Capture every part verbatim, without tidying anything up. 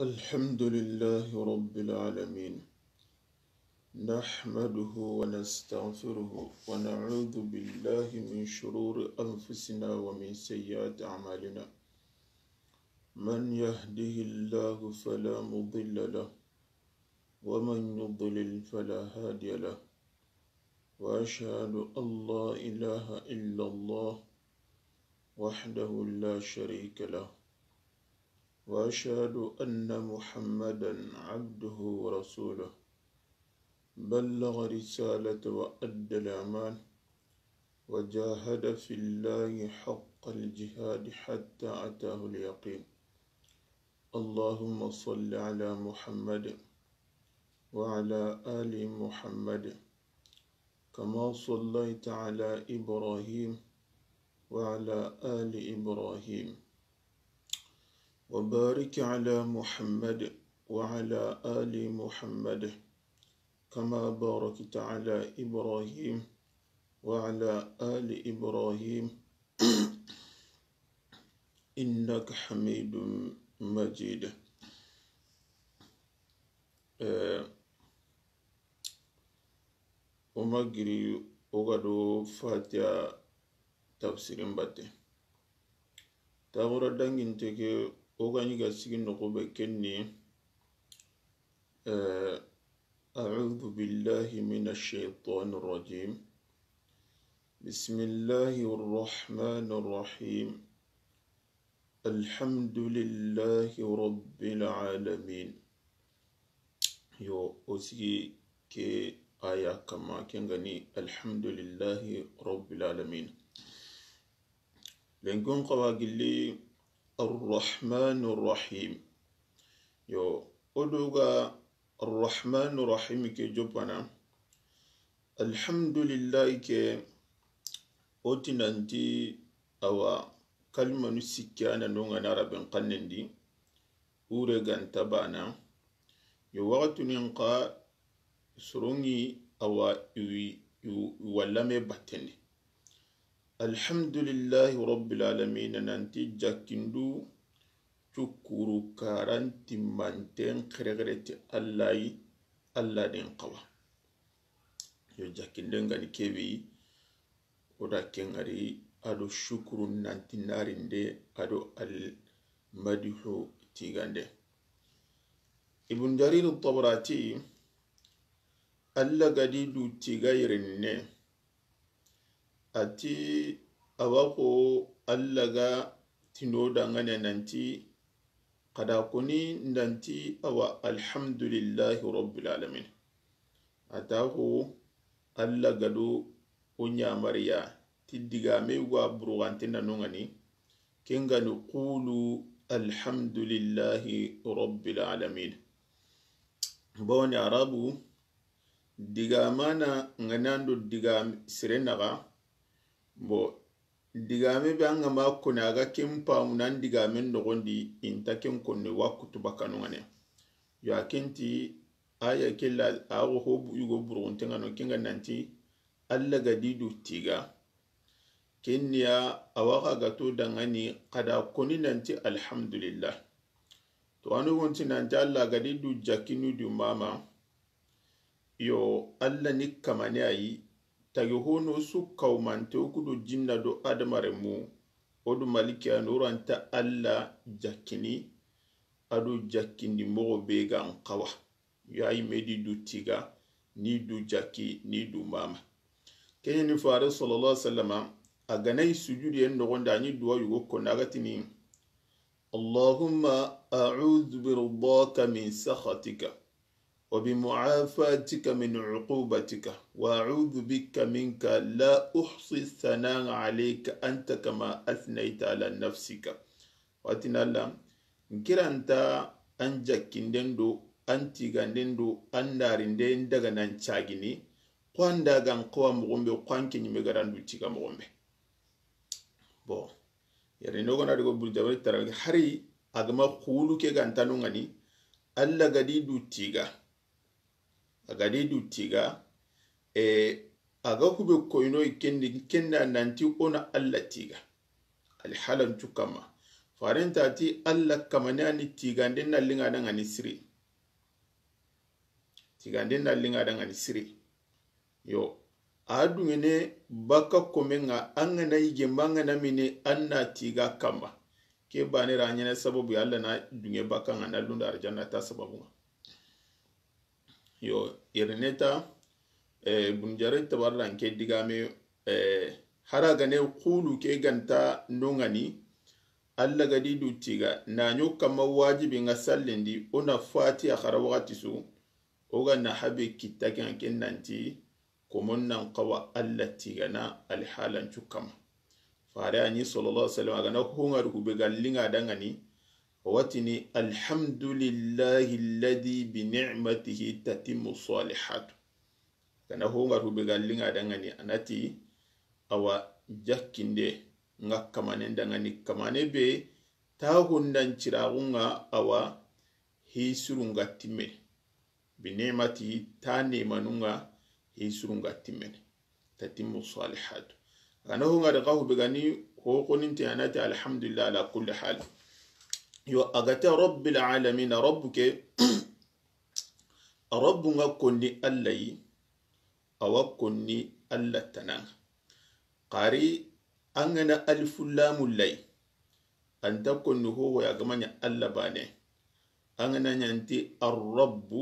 الحمد لله رب العالمين. نحمده ونستغفره ونعوذ بالله من شرور أنفسنا ومن سيئات أعمالنا. من يهده الله فلا مضل له، ومن يضلل فلا هادي له. وأشهد أن لا إله إلا الله وحده لا شريك له، وأشهد أن محمدا عبده ورسوله. بلغ رسالة وأدى الأمان، وجاهد في الله حق الجهاد حتى أتاه اليقين. اللهم صل على محمد وعلى آل محمد كما صليت على إبراهيم وعلى آل إبراهيم، وبارك على محمد وعلى آل محمد كما باركت على إبراهيم وعلى آل إبراهيم إنك حميد مجيد. Eh, o ma giri o ga do Fatiha tafsirin batte. Taxura danginte ke o ga ɲi ga sigi noxo be kenni. Eh, أعوذ بالله من الشيطان الرجيم. بسم الله الرحمن الرحيم. الحمد لله رب العالمين. Yo, o sigi ke aya kama, ken ga ni الحمد لله رب العالمين. Lenkon xawa gilli الرحمن الرحيم. Yo, o do ga الرحمن الرحيم ke jopana. Alhamdulillahi ke, o ti nanti awa kalimanu sikki a na no ŋa na Araben xannen di, ure ga nta bana. Yo, waxatunin xa soronŋi awa iwi, iwi, iwa lame batten di. Alhamdulillahi rabbil alamin, nanti jakkindu cukuru karanti manten xerexere ti Alla yi, Alla den xawa. Yo, jakkinden ga ni kebe yi, o da ken ŋari a do shukuru nanti narinde a do al madihu tigande. Ibn Jarir Tabarati, Alla ga di du tiga yirinne, a ti, awa xo Alla ga ti no dangane nanti, xa da koni nanti awa alhamdulillahi rabbil alamin. A ta xo Alla ga do o ɲamariya ti digame wa burugante na no ŋa ni, ken ga ni qulu alhamdulillahi rabbil alamin. Bawoni Arabu digamana ŋa na ndo digame sire naxa. Bon, digame be an ga ma koni a ga ken pamu nan digamen noxon di, i nta ken koni wa kutu bakanu ŋa ne. Yo, a ken ti aya ke la, a xo ho bu-, yugo burunte ŋa no, ken ga nanti Alla ga di du tiga. Ken ni ya, awa xa ga to dangani, xa da koni nanti alhamdulillah. To, anu gonti nanti Alla ga di du jakkinu du mama. Yo, Alla ni kamane a yi, tagi hono su kawmante o ku do jinna do adamarenmu, o do malike a noranta Alla jakkini, a do jakkindi moxo be ga n xawa. Yo, a yi me di du tiga, ni du jakki, ni du mama. Ken ni Fare sallallahu alaihi wasallama, a ga na yi sujudiyen noxon di, a ni duwa yugo koni a ga tini, اللهم أعوذ برضاك من سخطك، وبمعافاتك من عقوبتك، وأعوذ بك منك، لا أحصي ثناء عليك أنت كما أثنيت على نفسك. Watina Alla, n kiranta an jakkinden do, an tiganden do, an narinden daga nan cagini, xo an da ga n xawa moxon be, xo an ke ɲime ga da n du tiga moxon be. Bon, yere no gona digo bul jabari tarawih hari a ga ma xulu ke ga nta no ŋa ni, Alla ga di du tiga. A ga di du tiga, e, a ga kube koyno i kendi, kenda nanti o na Alla tiga. Alhalan cukama. Faren ta ti Alla kamane a ni tigande na linŋa da ŋa ni siri. Tigande na linŋa da ŋa ni siri. Yo, a duŋene baka komen ŋa, an ga na yige ma an ga na mini an na tiga kanma. Ke bane ra ɲene sababu ya Alla na duŋe baka ŋa na lunda arjanna ta sababu ŋa. Yo, yere neta, eh, Ibn Jarir Tabari ra n ke digame, eh, hara gane kulu ke ganta nongani, Alla ga di du tiga, na ɲo kanma wajibi ŋa sallindi, o na Fatiha xara waxati su, o ga na habe kitta ke ŋa ken nanti, komon nan xawa Alla tigana alhalan cu kanma. Fare a ni sallallahu alaihi wasallam, a ga na honga du hube ga linŋa da ŋa ni, a wa tini, "Alhamdulillahi alladhi bi ni'matihi tatimmu salihatu." A ga na honga du hube ga linŋa da ŋa ni, a na ti, awa, jakkinde ŋa kamanen da ŋa ni, kamane be ta hondan ciraxu ŋa, awa, hi surun ga timmene. Bi ni'mati, ta nemanun ŋa, hi surun ga timmene. Tatimmu salihatu. A ga na honga da xa hube ga ni, ho xoninte a na ti alhamdulillah ala kulli hal. Yo, a ga ta rabbil alamin, rabbu ke, rabbu ŋa konni Alla yi, a wa konni Alla tana ŋa. Xari an ga na alifu lamu lay, an ta konni hoho ya ga ma ɲa Alla bane. An ga na ɲa nti arrabbu,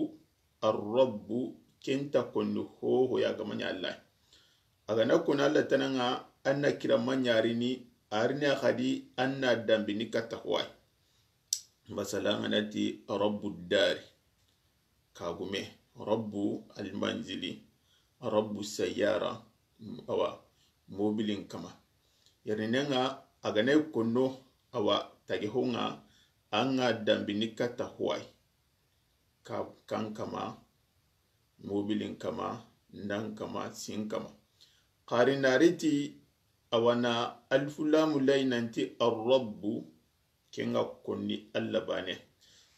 arrabbu, ken ta konni hoho ya ga ma ɲa Alla. A ga na konni Alla tana ŋa, an na kira ma ɲarini, a rini a xadi, an na dambini katta howa yi. Masala an ga na ti rabbu dari, kagume, rabbu almanzili, rabbu sayyara, awa, mobilin kama. Yerinenga a ga na konno, awa, tage honga, an ga dambini katta howa yi. Ka, kan kama, mobilin kama, ndan kama, sin kama. Xari na ri ti, awa na alifu lamu lay nanti arrabbu, ken ga konni Alla bane.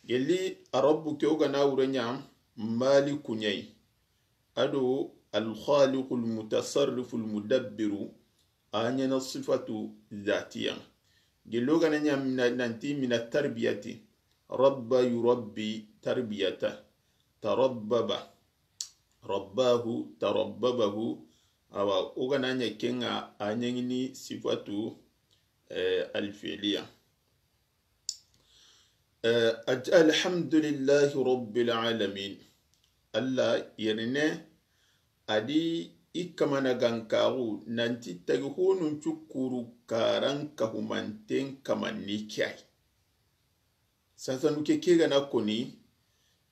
Gelli arabbu ke o ga na wure ɲa maliku ɲa yi. A do alkhaliqu almutasarrifu almudabbiru, a ɲa na sifatu zatiya. Gelli o ga na ɲa mina, nanti mina tarbiyati. Rabba yurabbi tarbiyata. Tarabbaba. Rabbahu, tarabbabahu. Awa, o ga na ɲa ken ŋa, a ɲa ŋini sifatu, eh, alfiliya. Eh, a ti, alhamdulillahi rabbil alamin. Alla yerine, a di i kamana gankaxu, nanti tagi honun cukuru karan kahumanten kamanni ke yi. Sasanu ke ke ga na koni,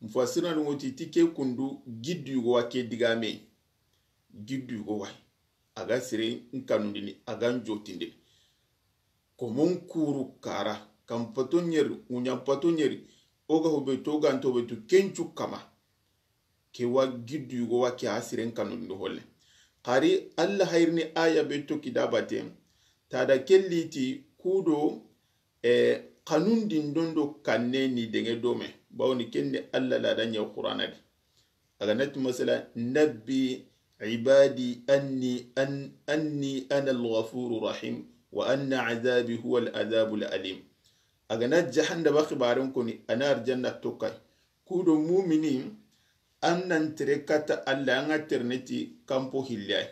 mufassirinu ŋo ti, ti ke kundu giddu yugo wa ke digame. Giddu yugo wa. A ga sire n kanundini, a ga n jotindini. Komon kuru kara, kan pato ɲeri, ŋuɲan pato ɲeri, o ga hube to ganto be tu kencu kama. Ke wa giddu yugo wa ke a siren kanundini holle. Xari Alla hayrini aya be to kidabate, tada kelliti kudo, e, kanundin dondo kanne ni denge dome. Bawni kenne Alla la da ɲa Qur'ana di. A ga na ti masala, nabbi ibadi anni, an, anni ana al-ghafuru rahim, wa anna azabi huwa al-azabu al-alim. A ga na jahannaba xibaren koni, a na arjanna tokkay. Kudo mumini, an nan tere kata Alla, an ga terneti kampo hillay.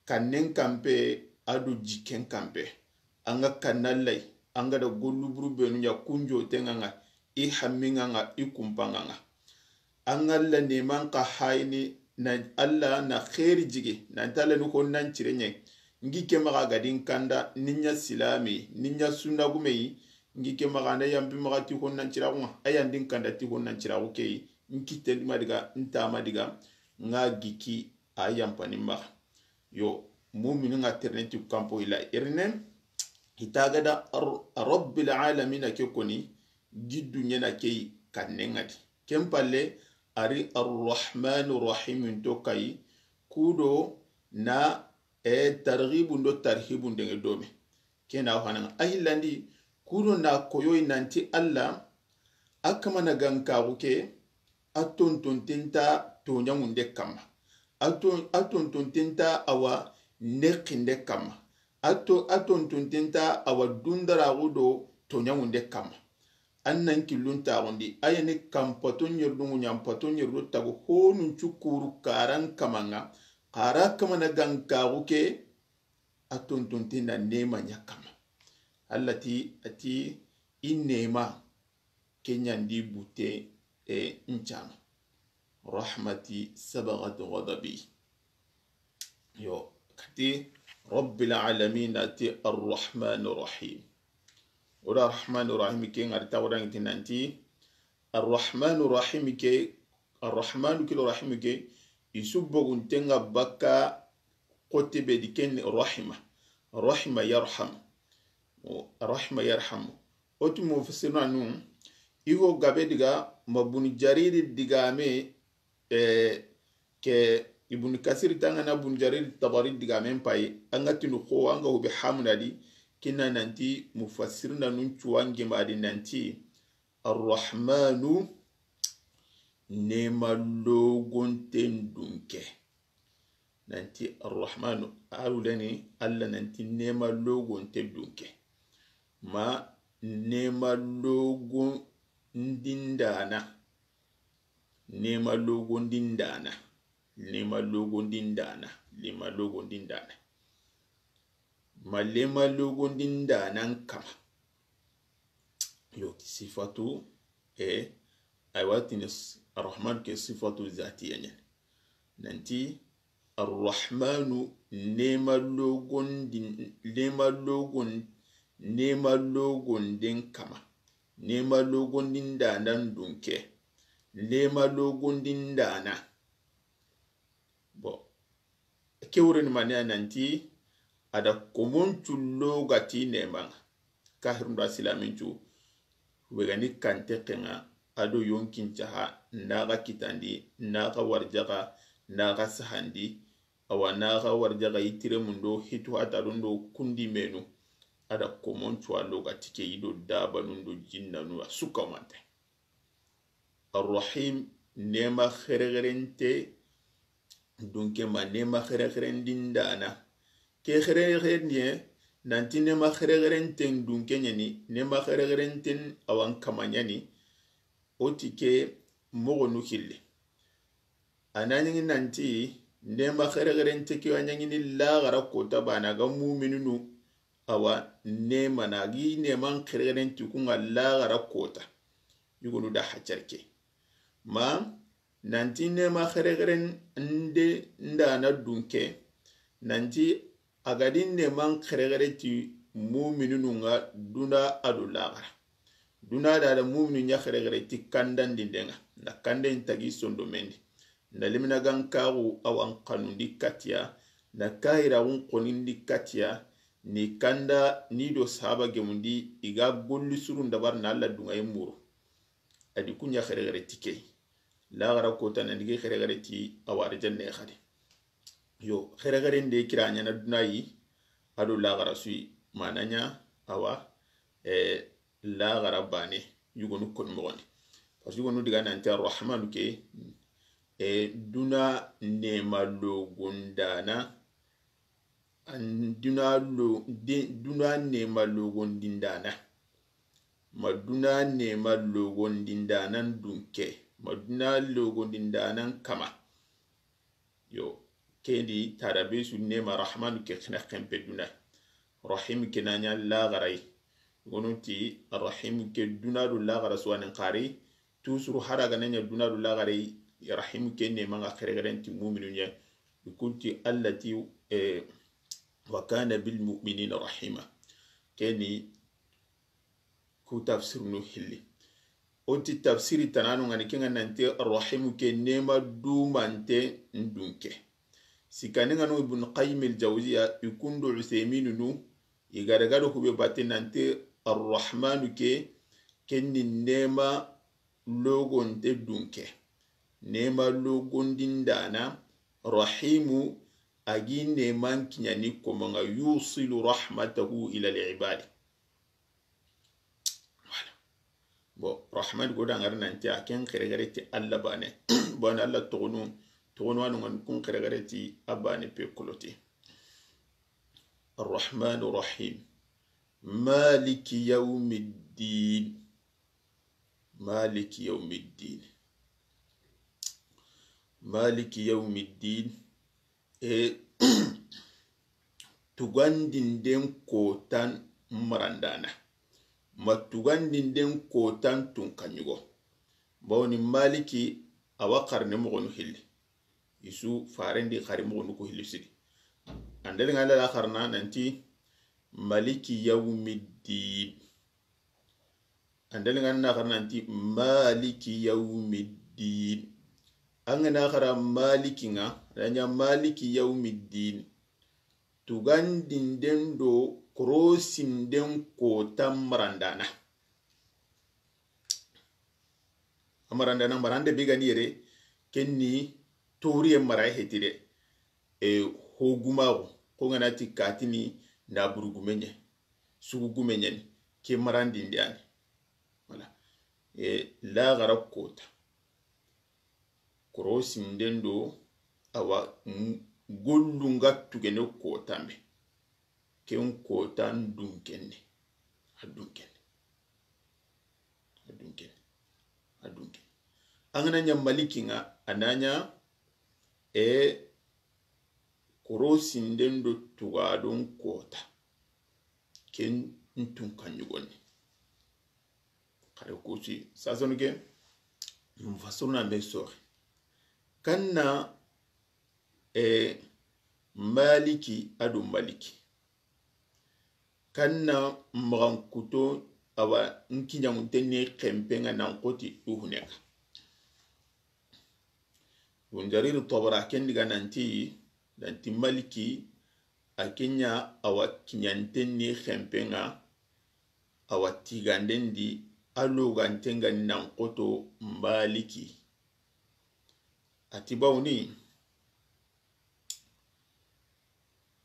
Kannen kampe, a do jikken kampe. An ga kanna lay, an ga da gollu buru benu ɲa kunjo tenga ŋa, i hamminga ŋa, i kumpanga ŋa. An ga Alla neman ka hayini, na Alla na xeeri jigi, nan tala ni honnan cire ɲe. Ngi ke maxa ga din kanda, ni ɲa silami, ni ɲa sunnagume yi, ngi ke maxa na yampi maxa ti honnan ciraxu ŋa, a yan din kanda ti honnan ciraxu ke yi, n kitten ma diga, n tama diga, ŋa giki, a yampani maxa. Yo, mumini ŋa terene ti kampo ila irne, ita ga da ar-, rabbil alamina ke koni, giddu ɲena ke yi kanne ŋa di. Ken palle, a ri arrahmanu rahim to kayi, kudo na, e, targhibun do tarhibun denge dome. Ke na hana ŋa. A hillandi, kudo na koyoyi nanti Alla, a kamana gankaxu ke, a tontonten nta toɲaŋunde kamma. A ton-, a tontonten nta awa neqinde kamma. A to, a tontonten nta a wa dundaraxu do toɲaŋunde kamma. An nan killun taxundi, a ya ni kanpato ɲerduŋu ɲa, n pato ɲerdu tagu honun cukuru karan kamaŋa, xara kamana gankaxu ke, a tontonten na nema ɲa kamma. Alla ti, a ti, i nema, ke ɲandi butte, e, n cama. Rahmati sabagat ghadabi. Yo, kati Rabbil alamin ati Arrahmani Rahim. O da Arrahmani Rahim ke ŋari ta o da ŋiti nanti Arrahmani Rahim ke, Arrahmanu ke do Rahim ke, i su bogunten ŋa bakka xote be di ken rahima. Rahima yarham. O, rahima yarham. O ti mufassirinu, i ho gabe diga ma Bun Jariri digame, e, ke Ibn Kasir tangana Bun Jariri Tabari digamen payi, an ga tinu xo, an ga hube hamuna di, kinna nanti mufassirinu cuwange ma di nanti, Arrahmanu, nema logonten dunke. Nanti Arrahmanu, a wuleni Alla nanti nema logonte dunke. Ma nema logondindana. Nema logondindana. Nema logondindana. Nema logondindana. Ma nema logondindanan kama. Yo, sifatu, e, aywa, tini s-, Arrahman ke sifatu zatiya ɲani. Nanti, Arrahmanu, nema logondi, nema logon, nema logonden kama. Nema logondindanan dunke. Nema logondindana. Bon, ke wurini mani a nanti, a da komoncu logati nemaŋa. Kahirun do a silamincu, wegani kante kenŋa, a do yonkin caha, naxa kitandi, naxa warjaxa, naxa sahandi, awa naxa warjaxa i tiremundo, hitu hatarundo, kundi menu, a da komoncu a logati ke i do dabanundo jinnanu a sukamante. Arrahim, nema xerexerente dunke ma nema xerexerendindana. Ke xerexerendiye, nanti nema xerexerenten dunke ɲani, nema xerexerenten awan kama ɲani, o ti ke moxonu hilli. A na ɲaŋi nanti, nema xerexerente ke wa ɲaŋini laxara kota bana ga mumininu, awa, nema na gi neman xerexerenti kunŋa laxara kota. Yugonu da hacarke. Ma, nanti nema xerexerende ndana dunke, nanti a ga di neman xerexereti mumininu ŋa duna a do laxara. Duna da da muminu ɲa xerexereti kandandindenŋa. Na kanden tagi sondomendi. Na limina gankaxu awan xanundi katiya. Na kahiraxun xonindi katiya. Ni kanda ni do sahaba gemundi i ga golli surun dabar na Alla dunŋaye muru. A di kuɲa xerexereti ke. Laxara kota na digi xerexereti awa arjanne xadi. Yo, xerexerende kira ɲana dunayi, a do laxara suyi, manaɲa, awa, e, laxara bane, yugonu koni moxondi. Parce que yugonu diga nanti Arrahmanu ke, e, duna nema logondana, an duna lo, de, duna nema logondindana. Ma duna nema logondindanan dunke. Ma duna logondindanan kama. Yo, kendi tada be su nema Rahmanu ke xina xempe duna. Rahim ke na ɲa laxaray. Gonunti Rahim ke duna do laxara suwanin xari. Tusuru hara ga na ɲa duna do laxaray. Rahim ke nema ŋa xerexerenti muminu ɲa. Ikunti Alla ti, e, wa kana bil mu'minina rahima. Keni ku tafsirunu hilli. O ti tafsiri tananu ŋa ni kenŋa nanti Arrahimu ke nema dumante ndunke. Sikani ŋa no Ibn Qayyim al-Jawziya, i kundo Uthayminunu, i gada gado hube batte nanti Arrahmanu ke, kenni nema logonte dunke. Nema logondindana, Rahimu, a gi neman kiɲani komo ŋa, yusilu rahmatahu ila al-ibadi. Voilà. Bon, Rahman go da ŋari nanti a ken xerexere ti Alla bane. Bon, Alla toxonu, toxonu anu ŋa ni kun xerexere ti a bane pe kolote. Arrahmani rahim. Maliki yawmi ddin. Maliki yawmi ddin. Maliki yawmi ddin. E, tugandinden kotan marandana. Ma tugandinden kotan tunkaɲugo. Bawoni Maliki a wa xarne moxonu hilli. Isu farendi xari moxonu ku hilli sidi. Andali ŋa lala xarna nanti Maliki yawmi ddin. Andali ŋa na xara nanti Maliki yawmi ddin. An ga na xara Maliki ŋa, a da ɲa Maliki yawmi ddin. Tugandinden do korosinden kotan marandana. A marandana, marande be ga ni yere, ken ni toriye mara hetire. E, hogumaxu, ko ŋa na ti katini na burugume ɲe, sugugume ɲeni, ke marandindi yani. Voilà. E, laxara kota. Korosinden do, awa, n-, gollunga tugene kotanbe. Ken kotan dunkenne. A dunkenne. A dunkenne. A dunkenne. An ga na ɲa Maliki ŋa, a na ɲa, e, korosinden do tugadon kota. Ken n tunkaɲugoni. Xare kusi sasonu ke, mufassiruna be soxi. Kanna, e, Maliki a do Maliki. Kanna maxankuto awa n kiɲaŋunten ni xenpe ŋa nan xoti duhune ŋa. Bun Jarir Tabari ken diga nanti, nanti Maliki, a ke ɲa awa kiɲanten ni xenpe ŋa, awa tiganden di, a loganten ga ni nan xoto Maliki. A ti bawoni,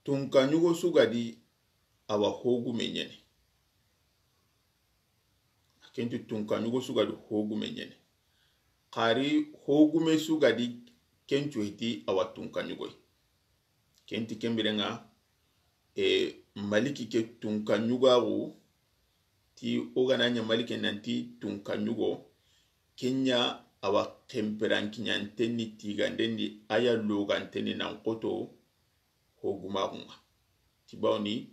tunkaɲugo su ga di awa hogume ɲeni. Ken ti tunkaɲugo su ga di hogume ɲeni. Xari hogume su ga di ken cu heti awa tunkaɲugoy. Ken ti ken biren ŋa, e, Maliki ke tunkaɲugaxu, ti o ga na ɲa Maliki nanti tunkaɲugo, ken ɲa awa xenperankiɲanten ni tiganden di, a ya loganten ni nan xoto hogumaxu ŋa. Ti bawoni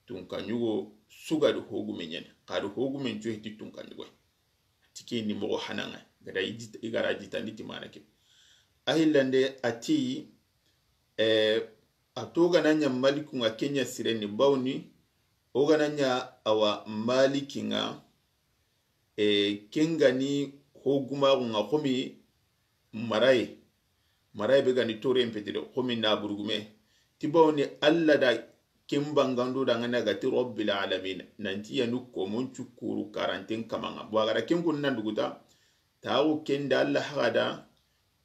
tunkaɲugo su ga di hogume ɲeni, xari hogumen cu heti tunkaɲugoy. Ti ke ni moxo hanaŋa, gada i jit-, i gara jitandi ti mana ke. A hillande a ti, e, a to ga na ɲa Maliku ŋa ke ɲa sireni bawoni, o ga na ɲa awa Maliki ŋa, e, ken ga ni hogumaxu ŋa xomi maraye. Maraye be ga ni toren petide xomi na burugume. Ti bawoni Alla da ken bangando da ŋa na ga ti Rabbil alamin. Nanti yanu komon cukuru karanten kamaŋa. Bo a ga da ken kun nan duguta, taxu ken da Alla haxa da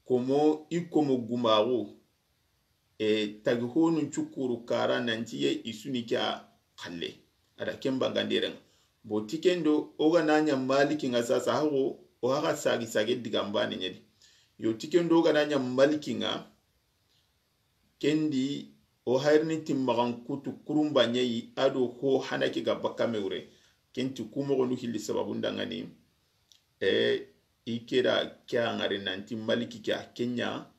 komo i komo gumaxu. E, tagi honun cukuru kara nanti ye i su ni ke a xalle. A da ken banganderen. Bo ti ken do o ga na ɲa Maliki ŋa sasa haxo, o haxa sagi sage digan bane ɲedi. Yo ti ken do o ga na ɲa Maliki ŋa, ken di o hayrini ti maxan kutu kurumba ɲeyi a do ho hana ke ga bakka me wure. Ken ti ku moxonu hilli sababun da ŋa ni. E, i ke da ke a ŋari nanti Maliki ke a ke ɲa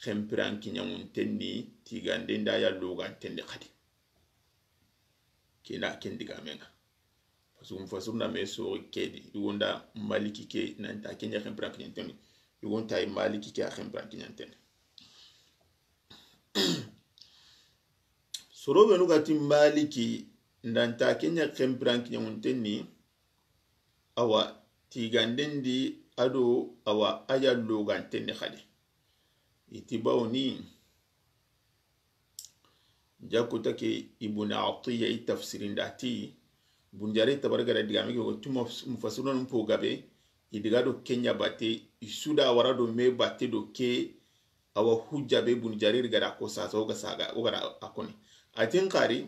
xenpirankiɲaŋunten ni tiganden da ya loganten di xadi. Ke na ken digamen ŋa. Parce que mufassiruna me soxi ke di, i gonda Maliki ke nanta ke ɲa xenpirankiɲanten ni. I gonda Maliki ke a xenpirankiɲanten ni. Soro benu ga ti Maliki nanta ke ɲa xenpirankiɲaŋunten ni, awa tiganden di a do awa a ya loganten ni xadi. I ti bawoni, jakuta ke Ibn Atiyya i tafsirin da ti, Bun Jarir Tabari ga da digame ke ko tuma mufassirun po gabe, i diga do ke ɲa batte, i su da wara do me batte do ke, awa hujja be Bun Jarir ga da ko sasa o ga saga, o ga da a koni. A tin xari,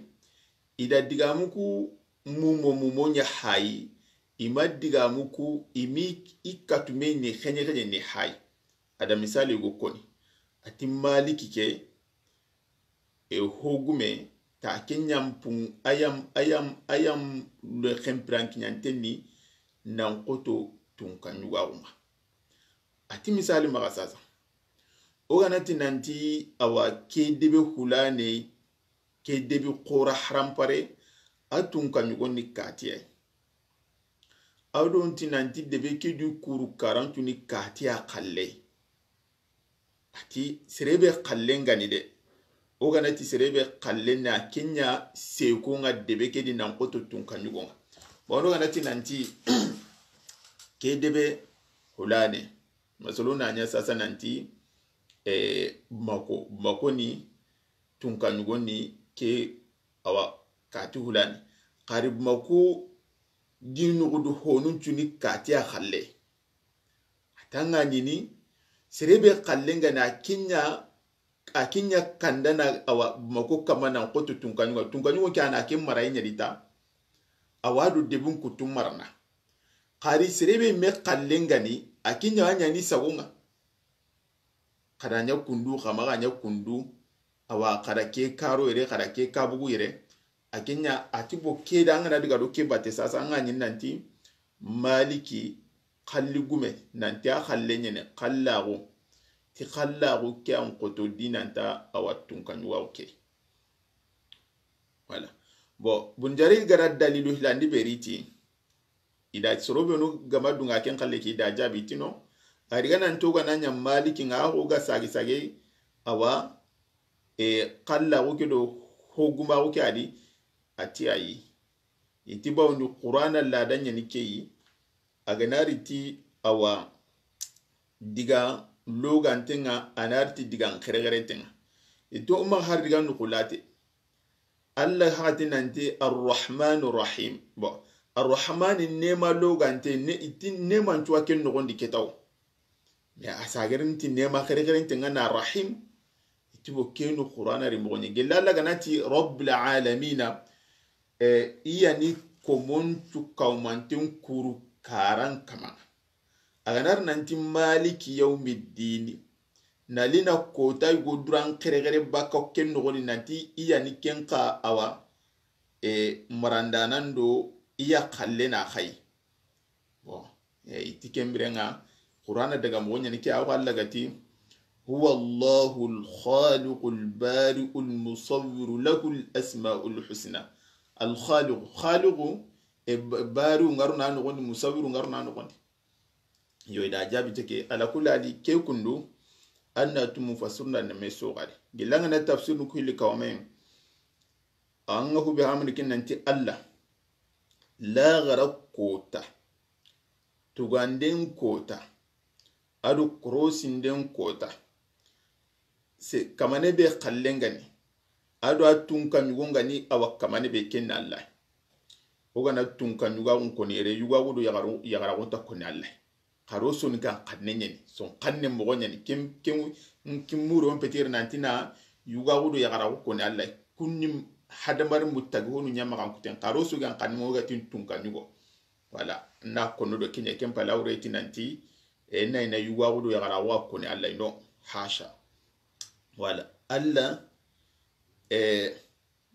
i da digamu ku mumo mumo ɲa hayi, i ma digamu ku, i mi i katume ni xeɲe xeɲe ni hayi. A da misali go koni. A ti Maliki ke, e hogume, ta ke ɲa n pun, a ya n, a ya n, a ya n le xenpiran kiɲanten ni, nan xoto tunka ɲugaxun ŋa. A ti misali maxa sasa. O ga na ti nanti awa ke debe hulane, ke debe xora harampare, a tunka ɲugon ni katiya yi. A do n ti nanti debe ke du kuru karantu ni katiya xalle. A ti sere be xallen ga ni de. O ga na ti sere be xallen na ke ɲa seko ŋa debe ke di nan xoto tunka ɲugon ŋa. Bon, o ga na ti nanti ke debe hulane. Masalo na ɲa sasa nanti, eh, Bamako, Bamako ni tunka ɲugon ni ke awa kati hulane. Xari Bamako di nuxudu honun cu ni katiya xalle. A ta ŋa ɲini, sere be xallen ga na ke ɲa, a ke ɲa kanda na awa Bamako kama nan xoto tunka ɲugo, tunka ɲugo ke a na ke mara i ɲa di ta. Awa do debun kutu marana. Xari sere be me xallen ga ni, a ke ɲa a ɲa ni sagon ŋa. Xa da ɲa kundu, xa maxa ɲa kundu, awa xa da ke karo yere, xa da ke kabugu yere. A ke ɲa a ti bo ke da an ga na diga do ke bate sasa an ga ɲi nanti Maliki xalli gume, nanti a xalle ɲene xallaxu, ti xallaxu ke an xoto di nanta awa tunka ɲugaxu ke. Voilà. Bon, Bun Jarir ga da dalilu hilandi beri ti. I da soro benu ga ma dunga ken xalle ke i da jaabi ti no. A ri ga nan to ga na ɲa Maliki ŋa ho ga sagi sage awa, e, xallaxu ke do ho gumaxu ke a di, a ti ayi. I ti bawundi Qur'ana lada ɲani ke yi, a ga na ri ti awa diga loganten ŋa, a na ri ti diga n xerexerenten ŋa. I to o ma har diga nuxulate. Allah hati nanti Arrahmanu Rahim. Bon, Arrahmani nema logante, ne, i ti neman cuwa ken noxondi ketaw. Mais a sagerin ti nema xerexerenten ŋa na Rahim. I ti bo kenu Qur'ana ri moxoɲe. Gella Allah ga na ti Rabbil Alamina, eh, i ya ni komoncu kawmanten kuru karan kama. A ga na ri nanti Maliki Yawmiddini. Na li na kota yugo duran xerexere baka ken noxondi nanti i ya ni ken xa awa, e, marandanan do i ya xalle na xayi. Bon, e, i ti ken biren ŋa, Qur'ana daga moxo ɲani ke, a wa Allah ga ti, "Huwa Allahu al-Khaliqu al-Bari'u al-Musawwiru lahu al-asma'u al-husna." Al-Khaliqu, Khaliqu, e, ba-, Bari'u ŋa ro na noxondi, Musawwiru ŋa ro na noxondi. Yo, i da jaabi te ke, ala kulli hali, ke kundu, an na tu mufassirun da na me soxari. Gilla ŋa na tafsirun ku hilli kawame. An ŋa hube hamani ken nanti Allah. Laxara kota. Tuganden kota. A do korosinden kota. Se, kamane be xallen ga ni. A do a tunka ɲugo ga ni, a wa kamane be ken na Allah. O ga na tunka ɲugaxun koni yere, yugaxu do yaxaru, yaxaraxu ta koni Allah. Xaro soni kan xanne ɲani, son xanne moxo ɲani, ken, ken, ken muro on petir nanti na yugaxu do yaxaraxu koni Allah. Kunni hadamari mutagi honu ɲamaxan kuten, xaro so gan xanne moxo ga tin tunka ɲugo. Voilà, na kono do kiɲe ken pala wure ti nanti, e, na ina yugaxu do yaxaraxu a koni Allah, non, hasha. Voilà, Allah, e,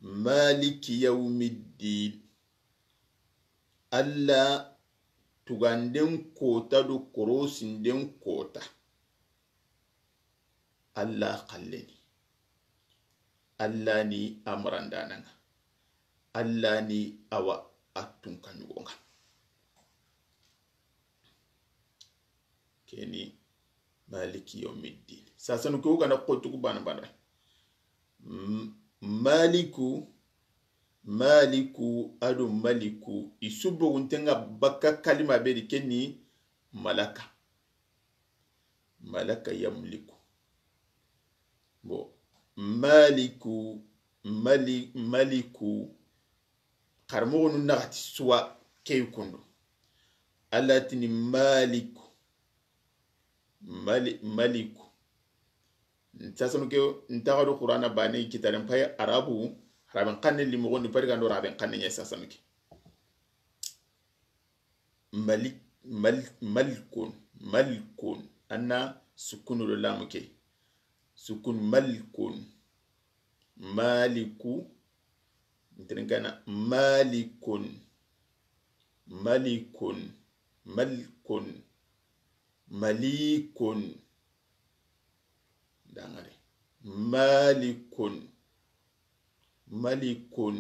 Maliki yawmiddin. Allah tuganden kota do korosinden kota. Allah xalleni. Allah ni a marandanan ŋa. Allah ni a wa a tunka ɲugo ŋa. Keni Maliki yawmiddin. Sasanu ke o ga na xotugu bana bana. M-, Maliku, Maliku, a do Maliku, i su bogunten ŋa baka kalima be di keni malaka. Malaka yamliku. Bon, Maliku, Mali-, Maliku, xaramoxonu naxati suwa ke yi kundu. Allah tini Maliku. Mali-, Maliku. Sasanu ke, n taxa do Qur'ana bane kitaren pay Arabu, Araben xanne limoxondi pari gando Araben xanne ɲa sasanu ke. Malik, mal-, Malikun, Malikun. An na sukunu do lamu ke. Sukun Malikun. Maliku, N tirinkana: malikun, malikun, malikun, malikun. Dangare: malikun, malikun,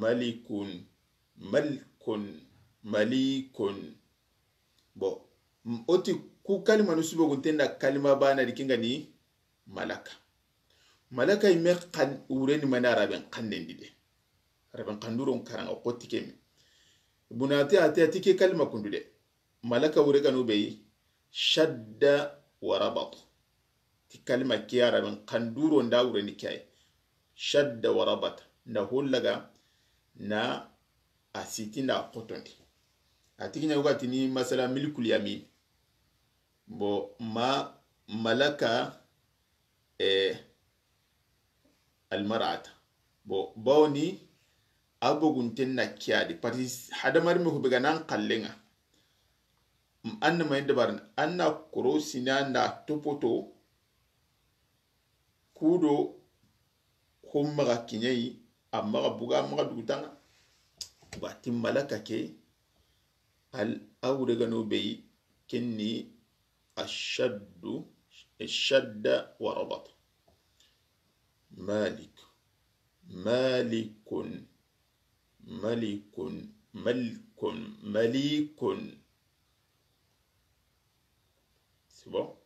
malikun, malikun, malikun. Bon, m-, o ti ku kalimanu su bogunten da kalima baane di, ken ga ni malaka. Malaka yi me xan-, wureni mani araben xannen di de. Araben xanduron karanga xo ti ke me. Ibn Atiya, Atiya ti ke kalima kundu de. Malaka wure ganu be yi, shadda wa rabat. Ti kalima ke araben xanduro nda wureni ke yi. Shadda wa rabat. Nda hollaga na a siti nda xotondi. A ti ke ɲa wo ga tini masala milkul yamin. Bon, ma malaka, eh, almarata. Bon, bawoni a bogunten na ke ya di. Parce que hadamaren me hube ga nan xallenga. M-, an na ma yi dabarini, an na korosini, an na topoto, kudo, ho maxa kiɲeyi, a maxa buga, a maxa dugutanga. Bati malaka ke, al awre gano be yi, ken ni ashaddu, shadda wa rabat. Malik, malikun, malikun, malikun, malikun. C'est bon?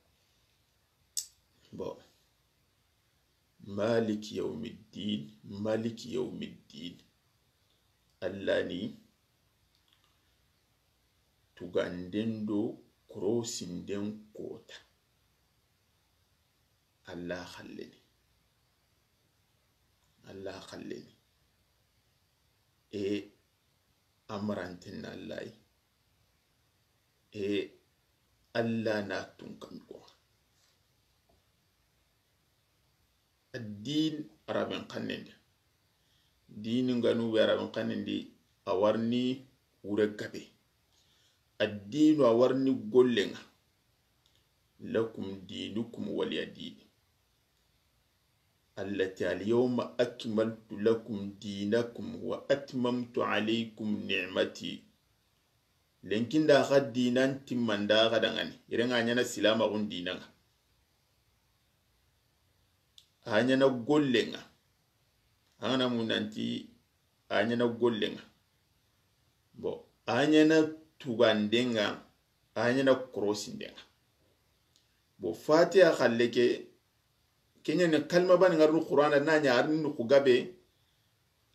Bon. Maliki yawmiddin, maliki yawmiddin. Allah ni tuganden do korosinden kota. Allah xalleni. Allah xalleni. E amaranten na Allah yi. E Allah na tunkan ko. Addin araben xannen di. Dini nganu be araben xannen di, a warni wure gabe. Addinu a warni gollenga. Lakum dinukum waliya dini. Allati alyawma akmaltu lakum dinakum wa atmamtu alaykum ni'mati. Lenkinda xa dinan timmanda xa dangani. Irenga ɲana silamaxun dinanga. A ɲana gollenga. An gana mu nanti a ɲana gollenga. Bon, a ɲana tugandenga, a ɲana korosindenga. Bon, Fatiha xalle ke, kenya ne kalma bani ngarnu Qur'ana na ɲa arni ku gabe,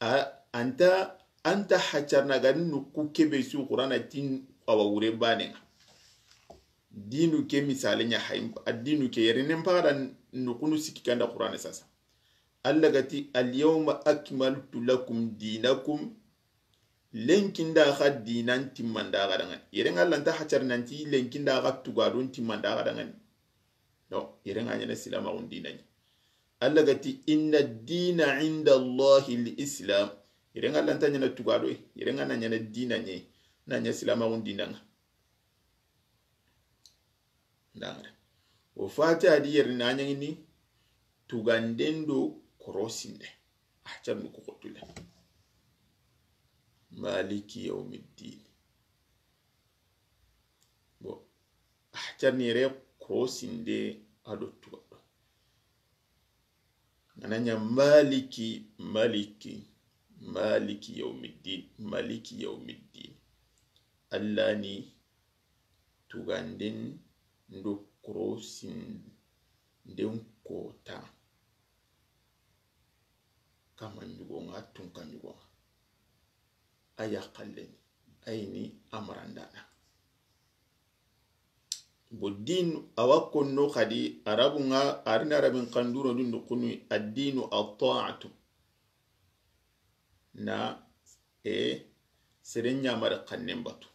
a, anta, anta hacarna ga nuku kebe su Qur'ana tin awa wure banenga. Dinu ke misale ɲa hay, addinu ke yerinen pagada nukunu sikki kanda Qur'ana sasa. Allah gati, "Al yawma akmaltu lakum dinakum." Lenkinda xa dinan timmanda ga dangani. Yeren Allah nta hacar nanti lenkinda xa tugadun timmanda ga dangani. No, yeren ŋa ɲana silamaxun dina ɲi. Allah gati, "Inna dina inda Allahi l-Islam." Yeren ŋa Allah nta ɲana tugadoy, yeren ŋa na ɲana dina ɲi, na ɲa silamaxun dina ŋa. Ndangare. O Fatiha di yeri na ɲaŋini tuganden do korosinde. A can nuku xotule. Maliki yawmiddin. Bon, a can ni yere korosinde a do tugado. Ngana ɲa maliki, maliki, maliki yawmiddin, maliki yawmiddin. Allah ni tuganden do korosinden kota. Kama ɲugo ŋa, tunka ɲugo ŋa. A yaxallen, a yi ni amarandana. Bo din, a wa konno xadi, Arabu ŋa, a ri na Arabin xanduro dun do kunu, addinu at-ta'atu. Na, e, seren ɲamari xannen batu.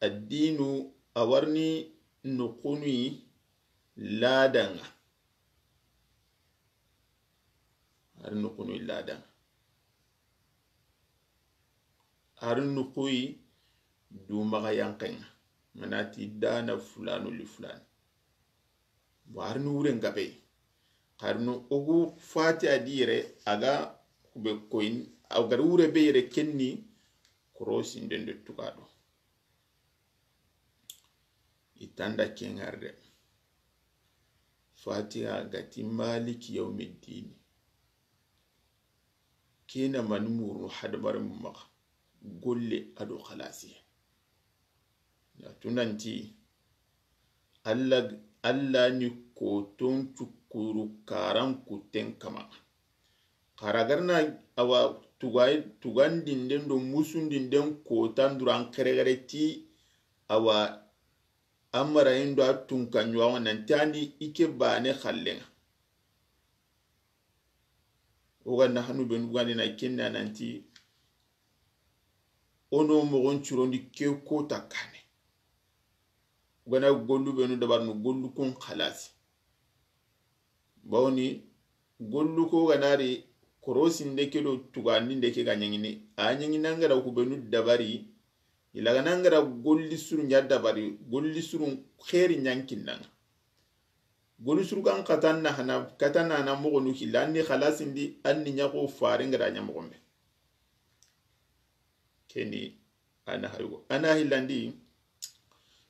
Addinu, a wa ri ni noxunu yi ladan ŋa. A ri noxunu yi ladan ŋa. A ri noxu yi dumaxa yanqen ŋa. Manati dana fulanu li fulani. Bon, a ri ni wuren gabe. Xa ri ni ogu Fatiha di yere, a ga be koyin, a gari wure be yere kenni, korosinden do tuga do. I tanda ke ŋari de. Fatiha ga ti Maliki yawmiddini. Kina mani murunu hadamaren maxa, golle a do xalasi. Na tunanti, Allah, Allah ni koton cukuru karan kuten kama. Xara garna awa tuga-, tugandinden do musundinden kotan duran xeregere ti awa amarayin do a tunka ɲuwaŋo nanti andi ike bane xallenŋa. O ga na hanu benu gandi na kenna nanti, o no mogon curondi ke kota kane. O ga na gollu benu dabarnu gollu kun xalasi. Bawni gollu ko ga na ri korosinde ke do tugandinde ke ga ɲaŋini. A ɲaŋina ŋara ku benu dabari. Ila ga na ŋara golli suru ɲa dabari, golli suru xeri ɲankinnaŋa. Golu surgan xatan na hana, katan na hana moxonu hilla, anni xalasindi, anni ɲaxo fare ngada ɲa moxonbe. Keni ana haygo. Ana hillandi,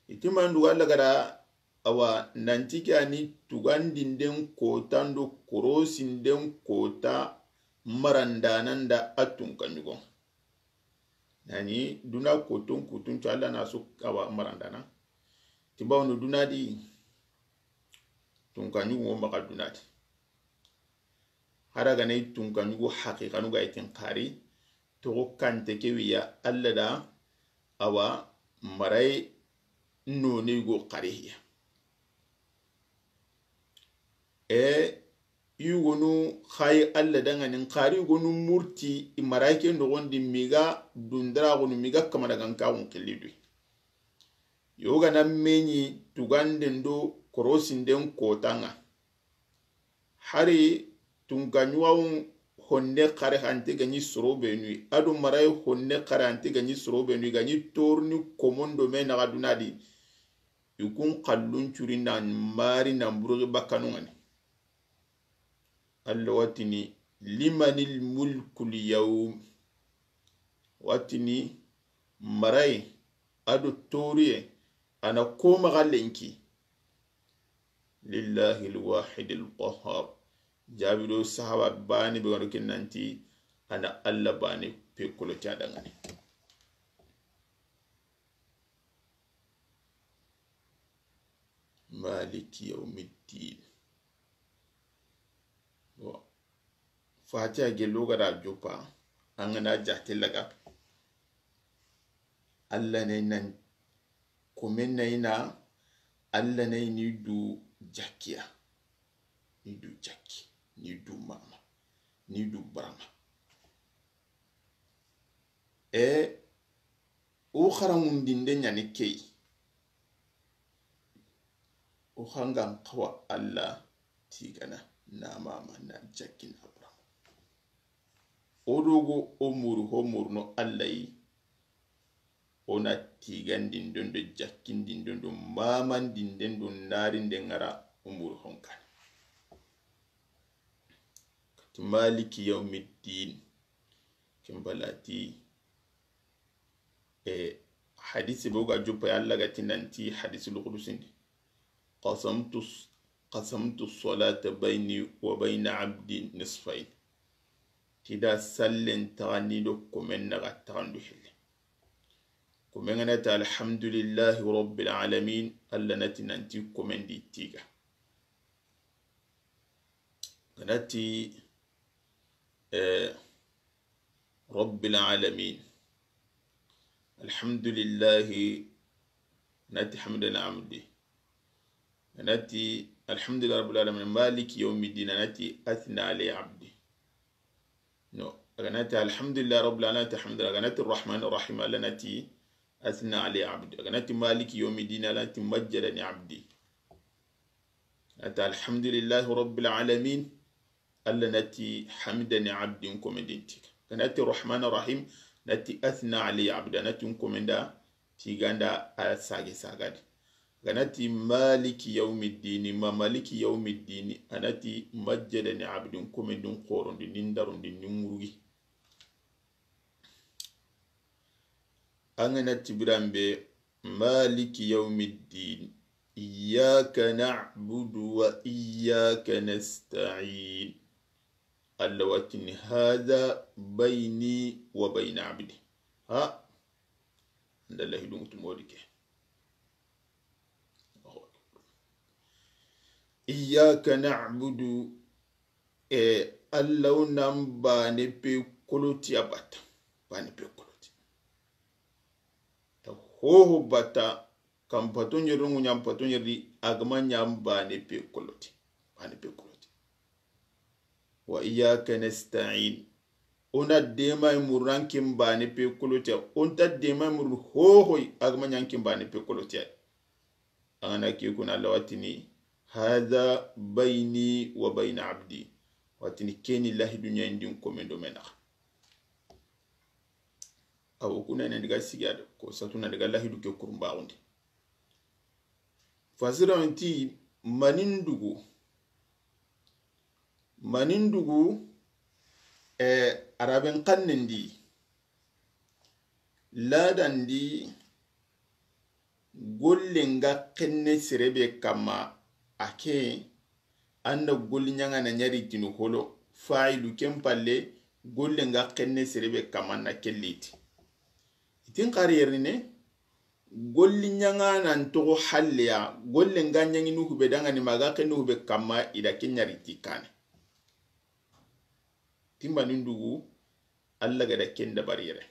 itimandu walla gada awa nanti ke ani tugandinden kota ndo korosinden kota marandanan da a tunka ɲugo. Nani duna kotun kutun co Allah na su awa marandana. Timbawnu duna di tunka ɲugo maxa duna di. Hara gana i tunka ɲugo haqiqanu ga itin xari, toxo kante ke wiya Allah da awa maray none go xari hiya. E yugonu xayi Allah danŋani, xari yugonu murti i marayke noxondi miga dundaraxunu miga kamanagankaxun xillidu. Yogana meɲi tuganden do korosinden kotanŋa. Hari tunkaɲuwawun honne xare hante gaɲi soro benuyi, ado marayi honne xare hante gaɲi soro benuyi, gaɲi torni komondo me naxa dunadi. Ikun xallun curi nan mari nan buruxi bakkanunŋani. Allah watini, limanil mulkul yawm. Watini, maray ado toriye ana ko maxa lenki. Lillahi alwahid alqahhar. Jabido sahaba bani be wano kinanti ana Allah bani pe kolo ti adangani. Maliki yawmiddin. Bon. Fatiha gello gada joppa, an gana jate laga. Allah ne nan komen na ina, Allah ne ni du jakkiya, ni du jakki, ni du mama, ni du barama. E o xaranŋundinde ɲani key. O xangan xawa Allah tigana na mama na jakki na barama. O dogo o muru ho muru no Allah yi. O na tigandinden do jakkindinden do mamandinden do narinden ŋara o muru honkan. Kati maliki yawmiddin. Kimbalati. E hadisi bo ga joppa ya Allah ga tinanti hadisi lukudusin di. Qasamtu, qasamtu salata bayni wa bayna abdi nisfayn. Tida sallen taxandi do komen naxa taxandu hille. Komen ŋa nati alhamdulillahi rabbil alamin, Allah nati nanti komen di tiga. Ganati, eh, rabbil alamin. Alhamdulillahi, nati hamdan abdi. Nati alhamdulillahi rabbil alamin, maliki yawmiddin, nati athna alayya abdi. No, aganati alhamdulillahi rabbil alamin, nati alhamdulillah, aganati arrahman arrahim, Allah nati athna alayya abdi. Aganati maliki yawmiddin, Allah nati majjadani abdi. Nati alhamdulillahi rabbil alamin. Allah nati hamidani abdi, n komendin tiga. Ganati rahman rahim, nati athna alayya abdi, nati n komenda tiganda a sage sagadi. Ga na ti maliki yawmiddini, ma maliki yawmiddini, a na ti majjadani abdin, komendin xorondi, nin darundi, nin ŋurugi. An ga na ti biranbe, maliki yawmiddin, iyyaka na'budu wa iyyaka nasta'in. Alla wa tini, hadha bayni wa bayna abdi. Ha, an da lahidu ŋutu modi ke. Iyyaka na'budu, e, Alla wo nan bane pe koloti a bata. Bane pe koloti. Ta hoho bata, kan pato ɲeri, ŋuɲan pato ɲeri, a ga ma ɲa bane pe koloti. Bane pe koloti. Wa iyyaka nasta'in. O na dema murran kin bane pe koloti. O nta dema murru hohoy, a ga ma ɲa kin bane pe koloti. An ga na ke kuna, Alla wa tini, hadha bayni wa bayna abdi. Wa tini ke ni lahidu ɲa in di n komendo me naxa. Awo kuna ne diga siga do, ko satu na diga lahidu ke kurumbaxundi. Fasira nti manindugu. Manindugu, e, araben xannen di. Ladan di, golle nga xenne sere be kamma, a ke, an da golli ɲaŋa na ɲari tini holo, fa'ilu ken palle, golle nga xenne sere be kamma na kelliti. Itin xari yerine, golli ɲaŋa nan toxo halleya, golle nga ɲaŋini hube dangani ma ga xenne hube kamma, i da ke ɲari ti kane. Ti manindugu, Alla ga da ken dabari yere.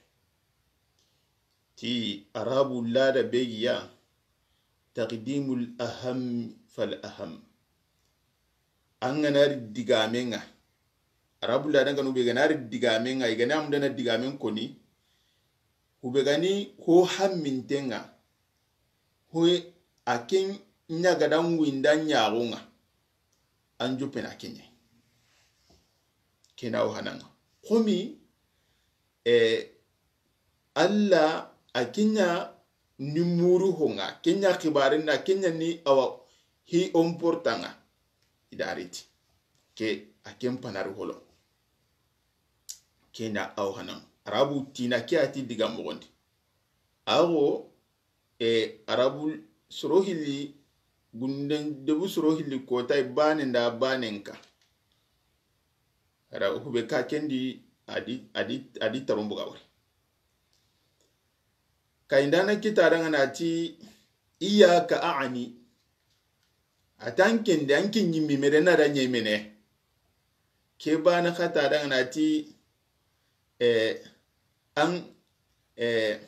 Ti arabu lada be giya, taqdimul aham fal aham. An ga na ri digame nga. Arabu lada nga no be ga na ri digame nga, i ga na amdana digamen koni. Hube gani ho hamminte nga. Ho a ken ɲa ga da ŋuinda ɲaxo nga. An joppena ke ɲa. Kena wo hananga. Komi, e, Alla a ke ɲa ni muru ho nga, ke ɲa xibarin na, ke ɲa ni awa hi omportanga. I da riti. Ke a ken panari holo. Kena awo hananga. Arabu tina ke a ti diga moxondi. Awo, e, arabu soro hilli, gunden debu soro hilli kota i bane nda bane nka. Ara hube ka kendi adi, adi, adi tarumbu ga wari. Ka indana kita danga na ti, iyaka a'ani. A ta an kende, an ke ɲimmi mere na da ɲemene. Ke bana xata danga na ti, e, an, e,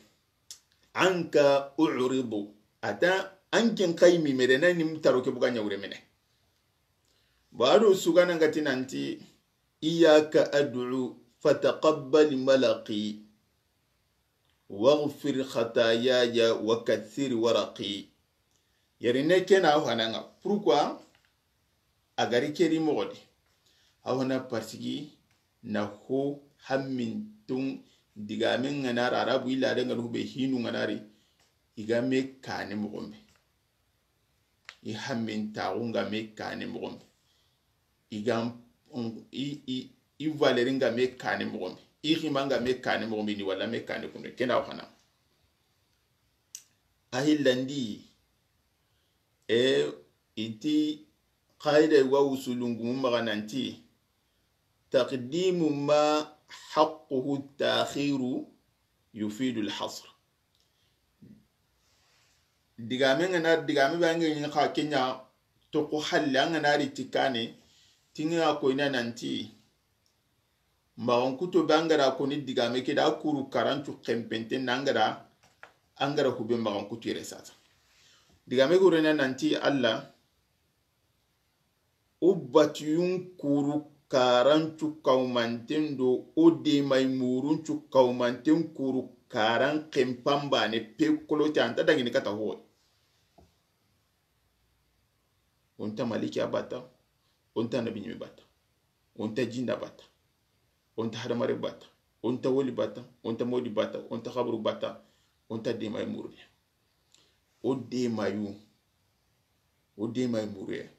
anka u'ridu. A ta an ken xay mi mere na nim taro ke buga ɲawre mene. Ba do sugana ngati nanti, iyaka ad'u fataqabbal malaqi. Waghfir khatayaya wa kathir waraqi. Yeri ne kena aw hananga. Pourquoi? A gari keri moxo di. Aw hana parce que na ho hammintun digamen ŋa na ra arabu illa de ŋa no be hinu ŋa na ri. I ga me kane moxo be. I hammintaxu nga me kane moxo be. I ga, i, i, i valeur nga me kane moxo be. I xima nga me kane moxo be ni wala me kane kunde. Kena aw hana. A hillandi, e, iti qaida wa usulun gumu maxa nanti, taqdimu ma haqquhu ta'khiru yufidu al-hasr. Digame nga na, digame ba nga ni xa kenya to ko halle nga na ri tikane, tinga ko ina nanti, maxankuto be an ga da koni digame ke da kuru karancu xempente na an ga da, an ga da hube maxankutu yere sasa. Digame ke wurena nanti Alla, o batiyun kuru karancu kawmanten do o demay muruncu kawmanten kuru karan xempan bane pe kolote anta dangini kata hoy. O nta maliki a bata, o nta nabi ɲime bata, o nta jinda bata, o nta hadamare bata, o nta woli bata, o nta modi bata, o nta xaburu bata, o nta demayi murune. O demayu, O dema i mure.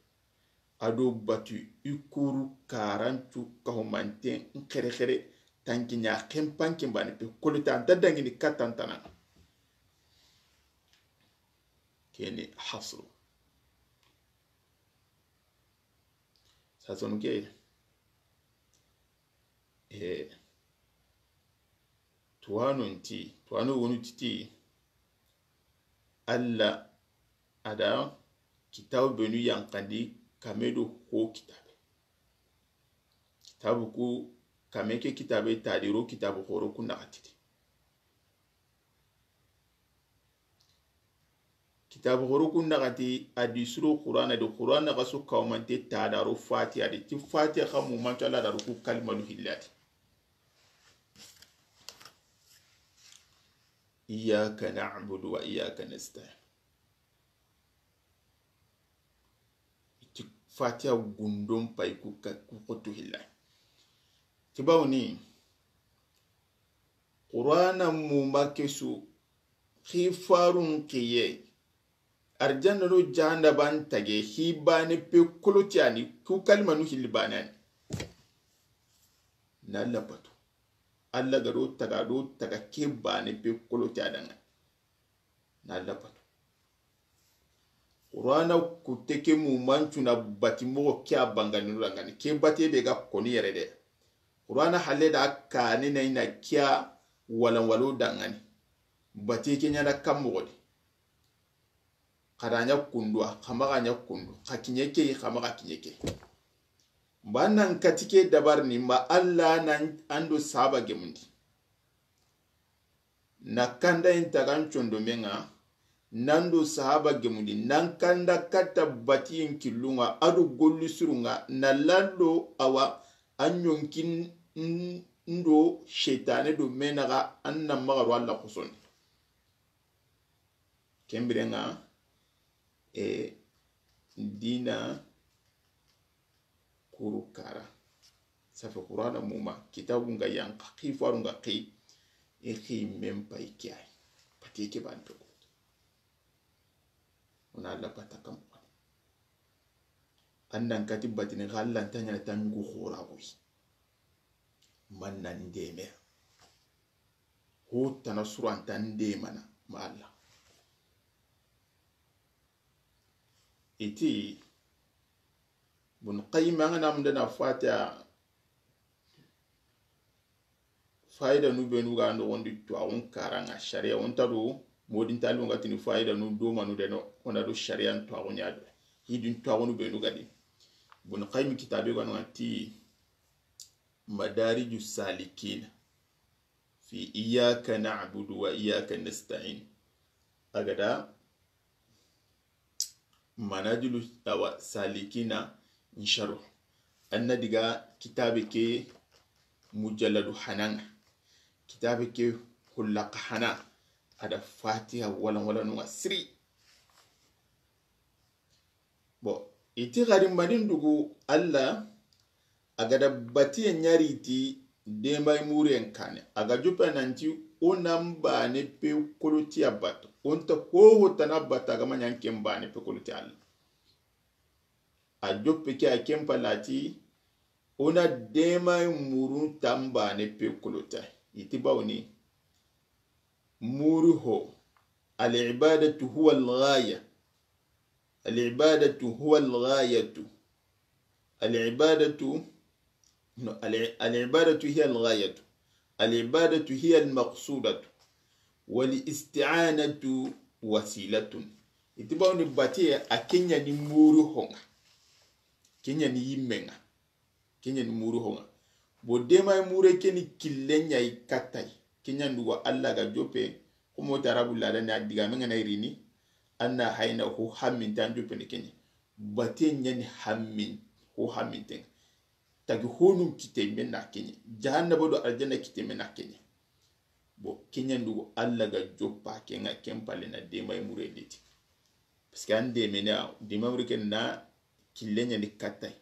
A do batu i kuru karancu kahumanten n xerexere tanki ɲa xempan ken bane pe kolita anta dangini katantana. Keni hasru. Sasonu ke. E, tuwano nti, tuwano wonu titi. Alla a da kitabu benu yankandi kame do ho kitabe. Kitabu ku kame ke kitabe tadiro kitabu horo ku naxatidi. Kitabu horo ku naxati a di suro Qur'ana di Qur'ana ga su kawmante tadaro Fatiha di ti Fatiha xa mu manto Alla daru ku kalimanu hillati. Iyyaka na'budu wa iyyaka nasta'in. Ti Fatiha gundon pay ku ka, ku xotu hilla. Ti bawni Qur'ana mu makesu xifarun xiye. Arjanna do jahannaba n tage hi bane pe kolotiyani ku kalimanu hilli banani. Na Alla batu. Alla ga do taga do taga ke bane pe kolotiya danga. Na Alla batu. Qur'ana kutte ke mu mancuna bati moxo ke a bangani no dangani ke bate be ga koni yere de. Qur'ana halle da kane na ina kiya walan walo dangani. Bate ke ɲana kam moxo de. Xa da ɲa kundu a xa maxa ɲa kundu xa kiɲe ke yi xa maxa kiɲe ke. Mba nan kati ke dabar ni mba Alla nan ando saba gemundi. Na kanda in tagan condo menga nan do sahaba gemundi nan kanda katta batiyen killunga ado golli surunga na lando awa an yonkin n-, ndo shetane do menaga an na magaro Alla kusondi. Kembirenga e dina kuru kara. Safe Qur'ana muma kitabu nga yanka xifaru nga xi i xi men pay kiyai. Pati ke ban to. Ona Alla bata kam ko. Annan kati batini xallan tanya tangu xora goy. Man nan deme. Ho tana suranta ndemana ma Alla. Iti Bun Qayyim an ga na munda na Fatiha fayida nu benu ga noxondi tuwaxun karanga sharia on ta do modin talu nga tini fayida nu do manu de no ona do sharia tuwaxu ɲa do hidin tuwaxu nu benu ga di. Bun Qayyim kitabe ga no ti Madariju Salikin fi iyyaka na'budu wa iyyaka nasta'in. Agada Manajilu awa Salikina nsharu. Anna diga kitabe ke mujalladu hananga. Kitabe ke hullaka hana. Ada Fatiha wala wala nunga siri. Bon, iti xari manin dugu Alla a ga da batiye ɲari ti demay muren kane a ga jupe nanti o nan bane pe kolotiya bato o nta hoho tana bato a ga ma ɲan ken bane pe kolotiya Alla. A joppe ke a ken palati o na demay murun tan bane pe kolotiya iti bawni muri ho. Al ibadatu huwa al ghaya. العبادة هو الغاية. العبادة، no, الع-، العبادة هي الغاية. العبادة هي المقصودة. والاستعانة وسيلة. Iti bawni batiye a ke ɲa ni muri honga. Ke ɲa ni yimmenga. Ke ɲa ni muri honga. Bo demay mure ke ni kille ɲa yi kattay. Ke ɲa ndugo Alla ga joppe. Xumo tarabu lada ni a digame nga na irini. Anna hayna ho hammintan joppe ni ke ɲa. Bate ɲa ni hammin, ho hamminten. Tagi honun kite men na ke ɲa. Jahannaba do aljanna kite men na ke ɲa. Bo ke ɲa ndugo Alla ga joppa ke nga ken palle na demay mure liti. Parce que an demene a demay mure ke na kille ɲa ni kattay.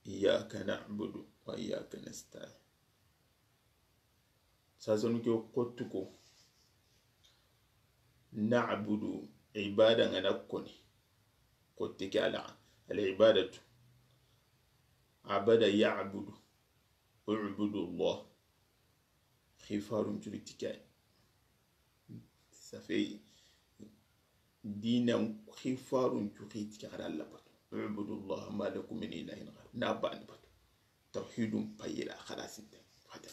إياك نعبد وإياك نستعين. Sasanu ke xottu ko. نعبد, Ibada ŋa na koni. Xotte ke ala. Al ibadatu. Abada ya'budu. U'budu Allah. Xifarun curi tikay. Ça fait, diinan xifarun cu xi ti ke xara Alla batu. U'budu Allah ma lakum min ilahin ghayru. Na bani batu. Tawhidun payira xalasinte. Fata.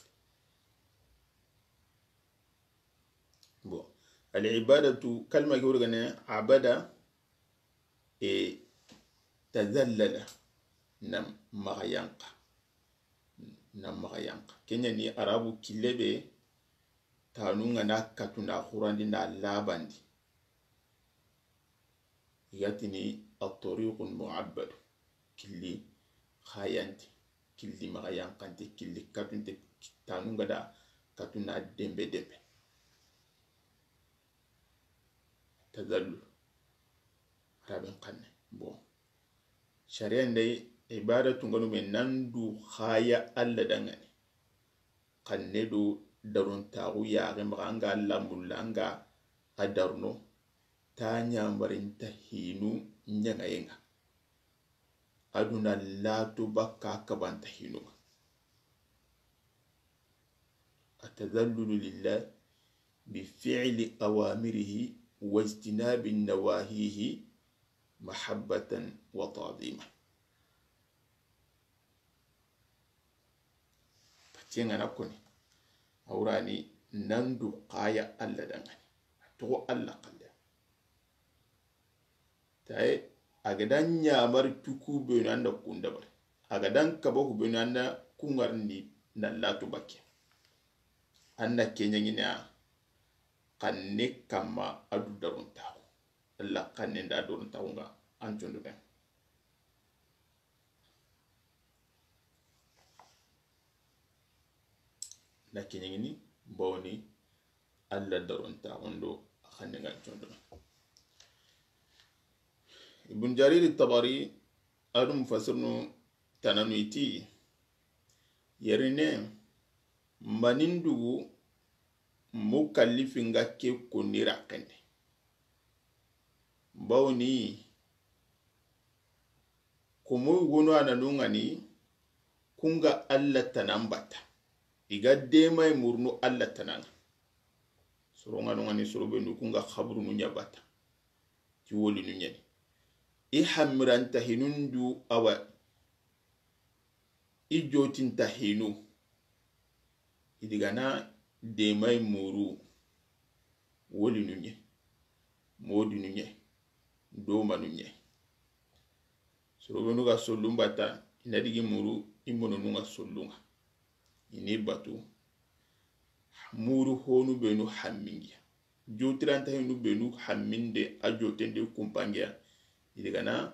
Bon. Al ibadatu, kalma ke wori gane, abada, e tazallala, na maxa yanqa. Na maxa yanqa. Ken ɲa ni Arabu kille be, tanu ŋa na katu na xurandi na labandi. I ga tini at-tariqul mu'abbad. Killi xayante, killi maxa yanqante, killi katunte, tanu ŋa da katu na dembe dembe. Tazallul. Araben xanne. Bon. Sariyan dai, ibadatu ŋa no me nan du xaya Alla danŋa ni. Xanne do darontaxu yaxe maxa, an ga Alla mulla, an ga a darono, ta ɲamarinta hinu ɲaŋaye ŋa. A duna lato bakka kabanta hinu ŋa. At-tazallulu lillahi bi fi'li awamirihi wajtinabi nawahihi mahabbatan wa ta'zima. Patiye ŋa na koni. Awrani nan du xaya Alla danŋa ni. A toxo Alla xalle. Taye, a ga da ɲamari tuku benu an da kunda bari. A ga da n kaba ku benu an da kungarni na lato bakke. An na ke ɲaŋini a xanne kamma a du darontaxu. Alla xanne nda darontaxu ŋa an condo ben. Na ke ɲaŋini bawoni Alla darontaxun do a xanne ŋa condo. Ibn Jarir Tabari, a do mufassirinu tananu i ti, yerine manindugu mukallifin ga ke konni raxende. Bawoni, komo wono a na nuŋa ni, ku ŋa Alla tanan batta. I ga demay murunu Alla tanan ŋa. Soro ŋa nuŋa ni, soro be nu ku ŋa xaburunu ɲa batta. Ti wolinu ɲa ni. I hammiranta hinun du awa. I jotinta hinu. I di ga na demay muru. Wolinu ɲa. Modinu ɲa. Domanu ɲa. Soro benu ga sollun batta, i na digi muru, i mononu ŋa sollun ŋa. I ni batu, muru honu benu hammingiya. Jotiranta hinu benu hamminde, a jotende kumpangiya. I di ga na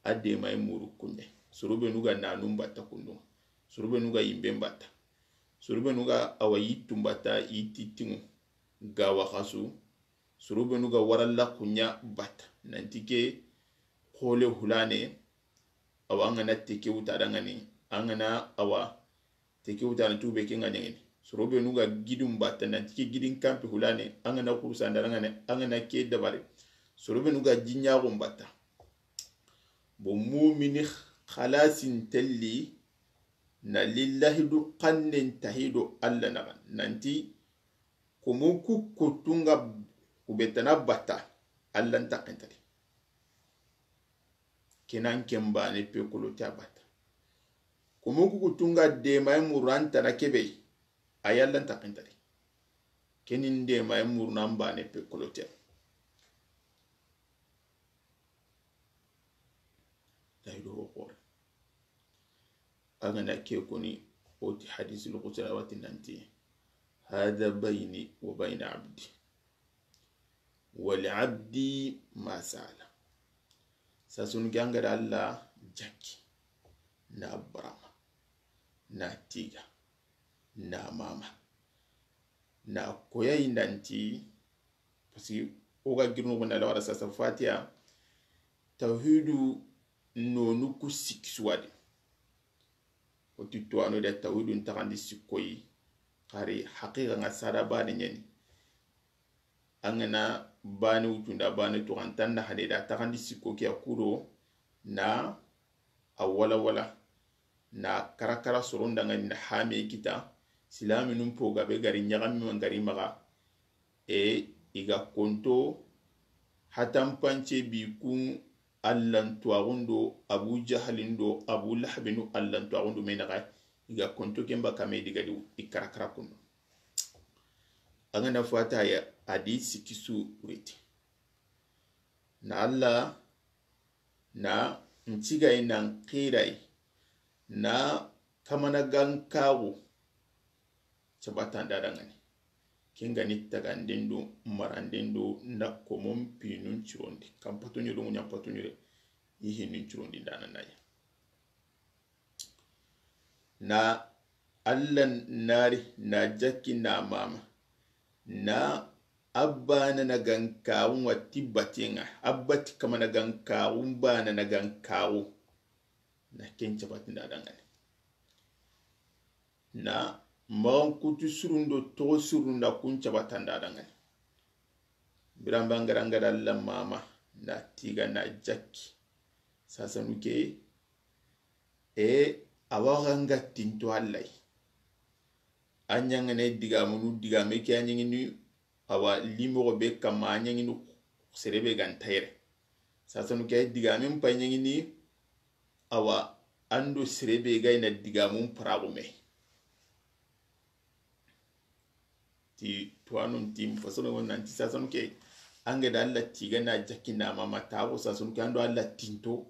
a demay muru kunɲa. Soro benu ga nanun batta kundu ŋa. Soro benu ga yimben batta. Soro benu ga awa yittun batta, yitti tiŋu. Ga waxasu. Soro benu ga waralla kuɲa batta. Nanti ke xole hulane, awa an ga na teke wuta danŋa ni, an ga na awa teke wuta na tube ke ŋa ɲaŋini. Soro benu ga gidun batta, nanti ke gidin kampi hulane, an ga na kurusa nda danŋa ni, an ga na ke dabari. Soro benu ga jiɲaxun batta. Bon, mumini xalasin telli na lillahi du xannen tahido Alla naxa. Nanti Komo ku kuttu ŋa ku be tana batta, Alla nta kentadi. Kenan ken bane pe kolote a batta. Komo ku kuttu ŋa demaye muru an tana kebe, a ya Alla nta kentadi. Kenin demaye muru nan bane pe kolote. Tahido ho xore. An ga na ke koni, o ti hadisul qudsi, a wa ti nanti, "Hadha bayni wa bayna abdi, wa li abdi ma sa'ala." Sasunu ke an ga da Alla jaki, na barama, na tiga, na mama, na koyayi nanti, parce que o ga girinu xo na lawara sasa Fatiha, tawhidu nonu ku sikki suwadi. O ti tuwano da tawhidu ntaxandi sikkoyi, xari haqiqa ŋa sada bane ɲani. An ga na bane wutunda bane tuxantan na hane da taxandi sikko ke a kudo na a wala wala na karakara soron dangani na hame kita. Silaminun po gabe gari ɲagami man gari maxa. E i ga konto hatampance bi kun allantuwaxun do Abu Jahalin do Abu Lahabinu allantuwaxun do me naxa. I ga konto ken ba kame digadi i karakara kundu. An ga na fata ya a di sikisu riti na Allah na ncigayi nan xiray na kamana gankaxu cabatanda dangani. Ken ga ni taganden do maranden do na komon pinun cirondi kan patoɲo do ŋuɲan patoɲo de. I hinun cirondi dana naya na Allah nari na jakki na mama na abba na na gankaxu wa ti batenga abba ti kamana gankaxu bana na gankaxu na ken cabatinda dangani. Na maxan kutu surundo toxo surunda kun cabatanda dangani. Biramba ngaranga da Allah mama na tiga na jakki sasanu ke. E awa ga nga tinto Allah. A ɲangane digamunu digame ke a ɲangini awa limoxo be kamma a ɲangini sere be gan tayre. Sasanu ke digamen pay ɲangini awa ando sere be gayna digamun paraxume. Ti tuwanun ti fasono nanti sasanu ke ange da Allah tiga na jakki na mama taxo sasanu ke ando Allah tinto.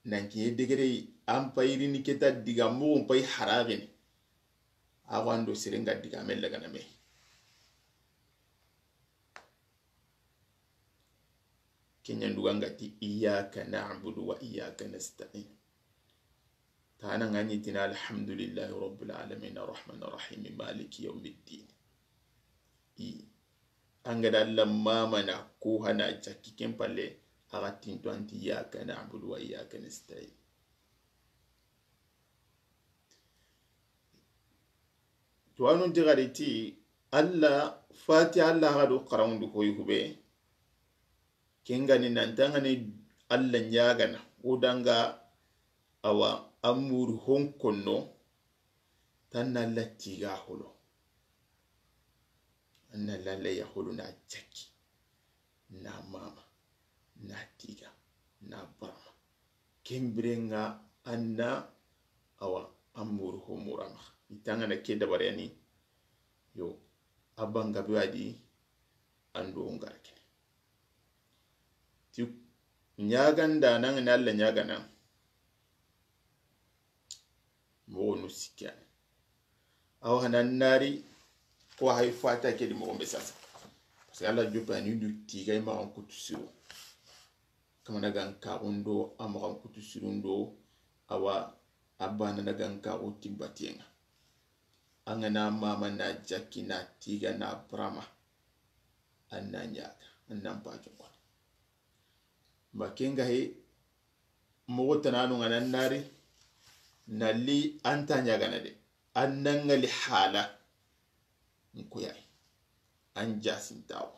Nan kiɲe degere an payirini keta diga moxon payi haraxini. Awa ando serenga digame lagana me. Kenya nduganga ti iyyaka na'budu wa iyyaka nasta'in. Tana ngani tina alhamdulillahi rabbil alamin arrahmanir rahim maliki yawmiddin. I angada Allah mamana ko hana jakki ken palle. Aga tinto anti iyyaka na'budu wa iyyaka nasta'in. Tuwanun ti gari ti Allah fati Allah ga do karawundu koyi hube. Kengani nantangani Allah ɲagana o danga awa amuru honkonno. Tanna Allah tiga holo. Anna lalla ya holo na jakki na mama na tiga na barama. Kembirenga anna awa amuru homurama itanga na ke dabareni. Yo abanga be wadi ando ngarke ti ɲaganda nangani Allah ɲagana. Moxo nu sikkani awa hana nari ko hay fata ke di moxo be sasa. Parce que Allah jopa ni du tigay maxan kutu siro kamana gan kaxundo a maxan kutu sirundo. Awa abana na gan kaxu timbatiyenga. Angana mama na jakki na tiga na brama. Anna ɲaga annan pajongo. Ma kenga he moxo tananu ngana nari nalli anta ɲagana de. Annangali hala nkoyay an jasintawo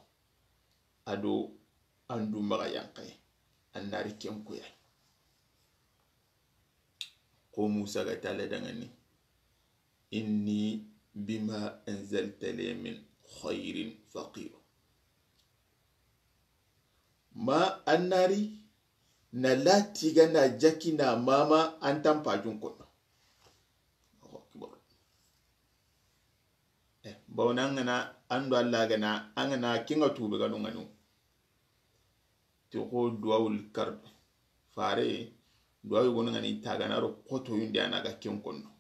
ado andu maxa yankaye annari ken koyay. Ko Musa ga tala dangani inni bima anzalta li min khairin faqir. Ma annari na latiga na jakki na mama antan pajun kono. Allahu akbar. Eh, bawna angana ando Allah gana angana kinga tube ganu nganu. Ti ko duwawul kar fare duwawu gono ngani tagana ro koto yunde anaga ken kono.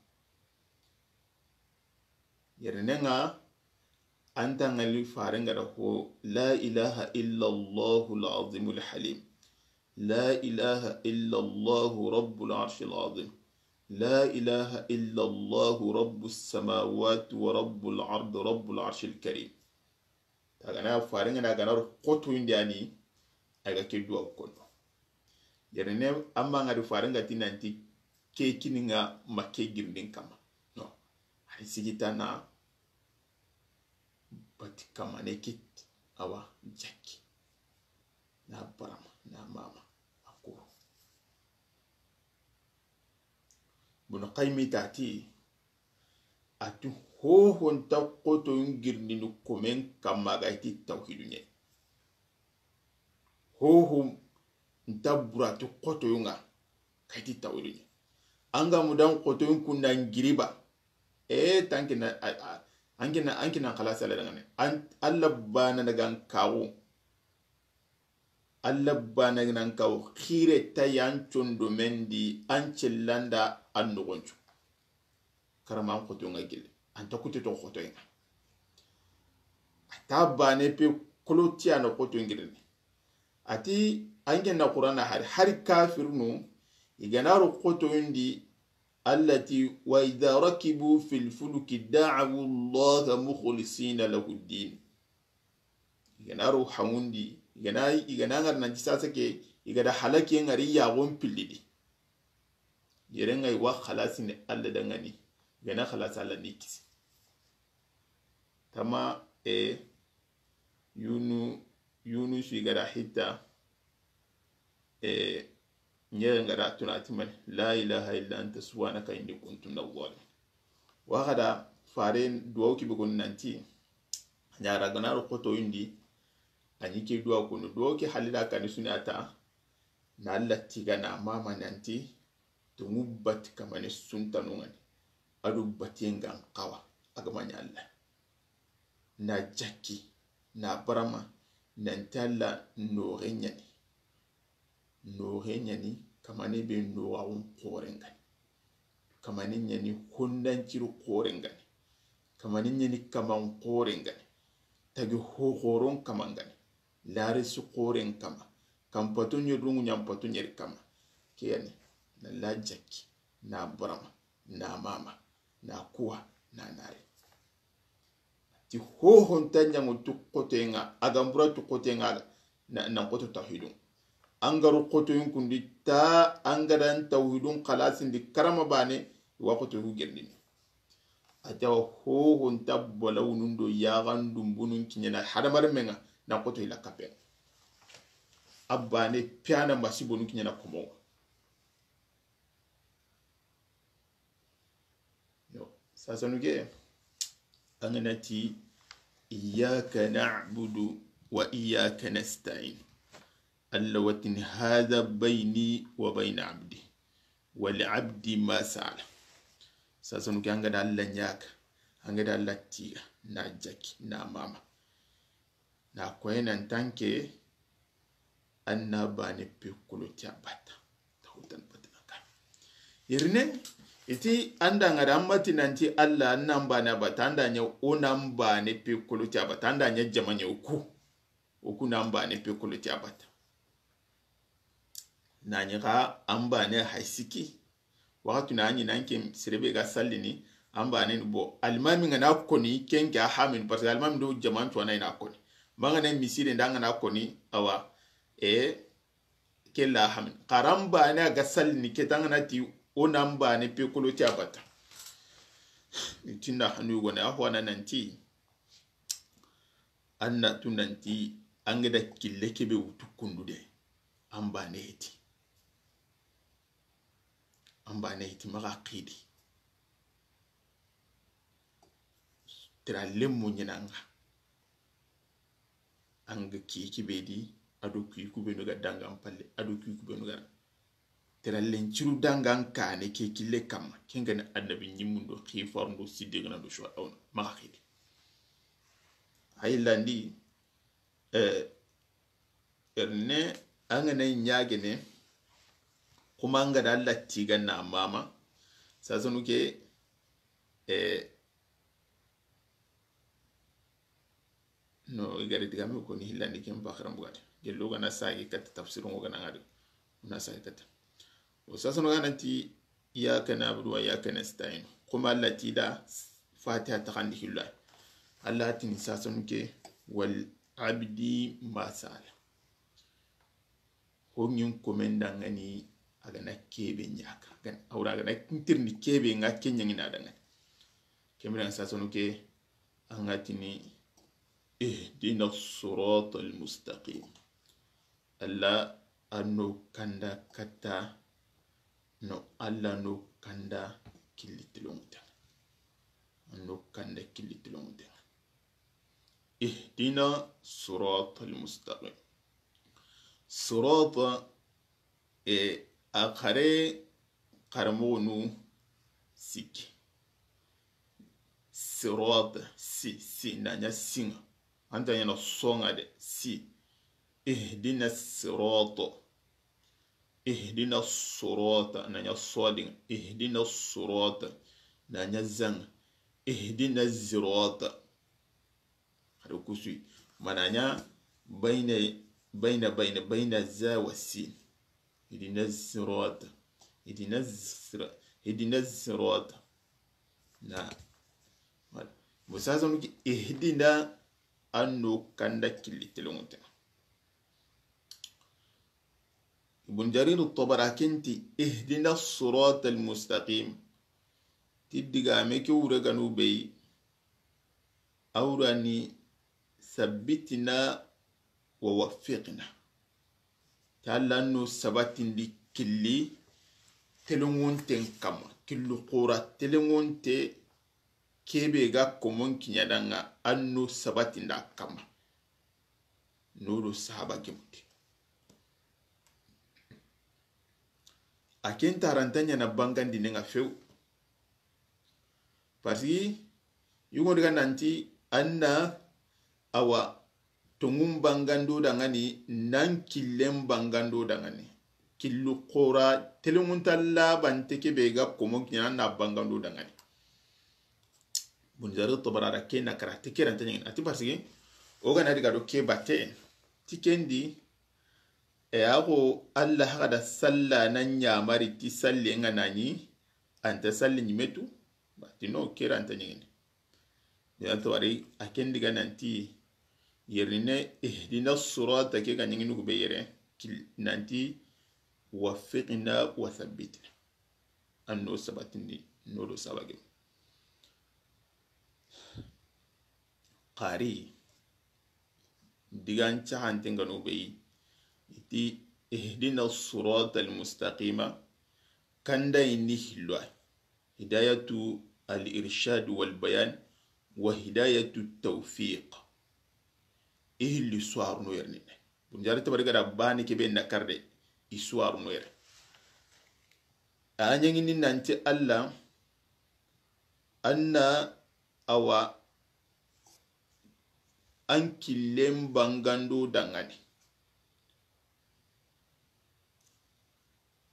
Yernenga anta ngali farenga da ko la ilaha illa Allahul azimul halim. La ilaha illa Allahu rabbul arshil azim. La ilaha illa Allahu rabbus samawati wa rabbul ard rabbul arshil karim. Tagana farenga na gana ro koto indiani. Aga ke duwa kono. Yerene amma ngadi farenga tinanti ke kininga ma ke girndin kama. No. Hari sigitana bati kama ne kit Awa, jakki. Na barama, na mama, a kuru. Bunu Qaymi tati, a ti hoho nta xotoyun girindini komen kamma ga i ti tawhidu ɲa. Hoho nta burati xotoyun ŋa ga i ti tawhidu ɲa. An ga mudan xotoyun kunda n giriba. E tankina, a, a, an kina, an kina xalasi Alla dangane. An, Alla bana daga n kawo. Alla bana nan kawo xire ta yan condo mendi an cellanda an nogoncu. Karama an xotoyun ŋa gille. An ta kute to xotoyun ŋa. A ta bane pe kolotiya na xotoyun girini. A ti an genna Qur'ana hari, hari kafirnu, i gana ro xotoyun di, Alla ti, "Wa idha rakibu fil fulki da'awu Allaha mukhlisina lahu ddin." I gana ro hamundi, i gana, i gana ŋari nanti sasa ke, i gada halaki ŋari yaxon pillidi. Yere ŋa i wa xalasini Alla dangani, i gana xalasi Alla ni kisi. Tama, e, Yunu, Yunusu i gada hitta, e, ɲere ŋa da tuna ti mani, "La ilaha illa anta subhanaka inni kuntu minaz zalimin." Wa xada faren duwawu kibe goni nanti, ɲara gana ro xotoyun di, a ɲi ke duwa kono, duwawu ke halida kani suni a ta, na Alla tiga na mama nanti, tongu bati kamane suntanu ŋani, ado batiyen gan xawa, a ga ma ɲa Alla. Na jakki, na barama, nanti Alla noxe ɲani. Noxe ɲani, kamane be noxaxun xoren gani. Kamane ɲani hondanciru xoren gani. Kamane ɲani kaman xoren gani. Tagi hoxoron kaman gani. Larisi xoren kama. Kanpato ɲodungu ɲanpato ɲeri kama. Ke yani, na la jakki, na barama, na mama, na kuwa, na nare. Ti hoho nta ɲaŋo tu xotoyen ŋa, a ga n bura tu xotoyen ŋa, na, na xoto tawhidun. An ga ro xotoyun kundi ta, an ga dan tawhidun xalasindi karama bane, i wa xotoyun girindini. A ti awa hoho nta balawunun do yaxan dumbunun kiɲana hadamarenmen ŋa, na xoto i la kapen. A bane piyana masibonun kiɲana komo. Yo, sasanu ke, an ga na ti, "Iyyaka na'budu wa iyyaka nasta'in." Alla wa tini, "Hadha bayni wa bayna abdi. Wa li abdi ma sa'ala." Sasanu ke, an ga da Alla ɲaga, an ga da Alla tiga, na jakki, na mama. Na koye nan tanke, an na bane pe kolotiya bata. Tahutan bata ka. Irne, iti an da ŋa da an mati nanti Alla, an na bane bata, an da ɲa o na bane pe kolotiya bata, an da ɲa jamaɲe o ku. O ku na bane pe kolotiya bata. Na ɲi xa an bane hay siki. Waxatu na ɲi nan ke serebe ga sallini, an bane ni bo. Alimami ŋa na koni, ken ke a hamini, parce que alimami do jaman cuwana i na koni. Manga na misire nda ŋa na koni, awa, e, ke la hamini. Xaran bane a ga sallini, ke ta ŋa na ti, o na bane pe kolotiya bata. Ni tinda hanu gone, a xo a na nanti, an na tu nanti, an ga da kille kebe wutu kundu de, an bane heti. An bane heti maxa xidi. Tira lemmo ɲinanga. An ga ki kibedi, ado ki kubenu ga dangan palle, ado ki kubenu ga. Tira lenciru dangan kane ke kille kamma. Ken ga ni annabi ɲimmundo, xifarundo, siddiqina do shuhadauna. Maxa xidi. Ay landi, eh, Erne, an ga na ɲagene, kuma an ga da Alla tiga na mama. Sasanu ke, eh, no, i gari digame koni hillandi ken paxaran bugadi. Gello ga na sagi katta tafsiru ŋo ga na ŋadi. Na sagi katta. O sasanu ga nanti, "Iyyaka na'budu wa iyyaka nasta'in." Kuma Alla ti da Fatiha taxandi hillo. Alla tini sasanu ke, "Wal abdi ma sa'ala." Ho ɲin komen da ŋa ni a ga na kebe ɲaga. Awra a ga na kintirni kebe ŋa ke ɲaŋi na da ŋa ni. Kemira sasanu ke, an ga tini Ihdina sirata almustaqim. Alla a no kanda katta, no Alla no kanda killi tilonŋunte. A no kanda killi tilonŋunte. Ihdina sirata almustaqim. Sirata, e, a xare, xaramoxonu sikki. Sirata, si, si, na ɲa siŋa. A nta ɲaana soŋa de, si. Ihdina sirata. Ihdina sirata, na ɲa sodin. Ihdina sirata, na ɲa zaŋa. Ihdina zirata. Hari kusui. Mana ɲa bayna, bayna, bayna, bayna za wa sin. Ihdina sirata. Ihdina sira-, ihdina sirata. Na. Voilà. Musasa muki ihdina a no kanda killi tilonŋunte. Ibn Jarir Tabari a ken ti, ihdina sirata almustaqim. Ti digame ke wure ganu be yi, a wurani sabbitina wa waffiqina. Ti Alla no sabatindi killi telenŋunten kamma, killu xura telenŋunte kebe ga komon kiɲa danŋa, a no sabatinda kamma. Nodo sahaba gemundi. A ken taranta ɲaana bangandinen ŋa few. Parce que yugo diga nanti anna awa tonŋun bangando danŋani, nan killen bangando danŋani. Killu xura telenŋunta labante kebe ga komon kiɲana na bangando danŋani. Ibn Jarir Tabari da ke na kara ti ke ranta ɲaŋini. A ti parce que o ga na diga do ke batte ti ken di, e, a xo Alla haga da salla na ɲamari ti salli ŋa nani, anta salli ɲimetu, ba ti no ke ranta ɲaŋini. Ibn Jarir Tabari a ken diga nanti yerine ihdina sirata ke ga ɲaŋini ku be yere kil-, nanti waffiqna wa thabbitna. An no sabatindi, no do sabage. Xari digan caxanten gano be yi, iti ihdina sirata almustaqima, kanda inni hilwa. Hidayatu al-irshad wal bayan wa hidayatu tawfiq. I hilli suwaruno yerne. Bunjari tabari gada bani kebe na karde, i suwaruno yere. A ɲaŋini nanti Alla, anna awa an killen bangando danŋani.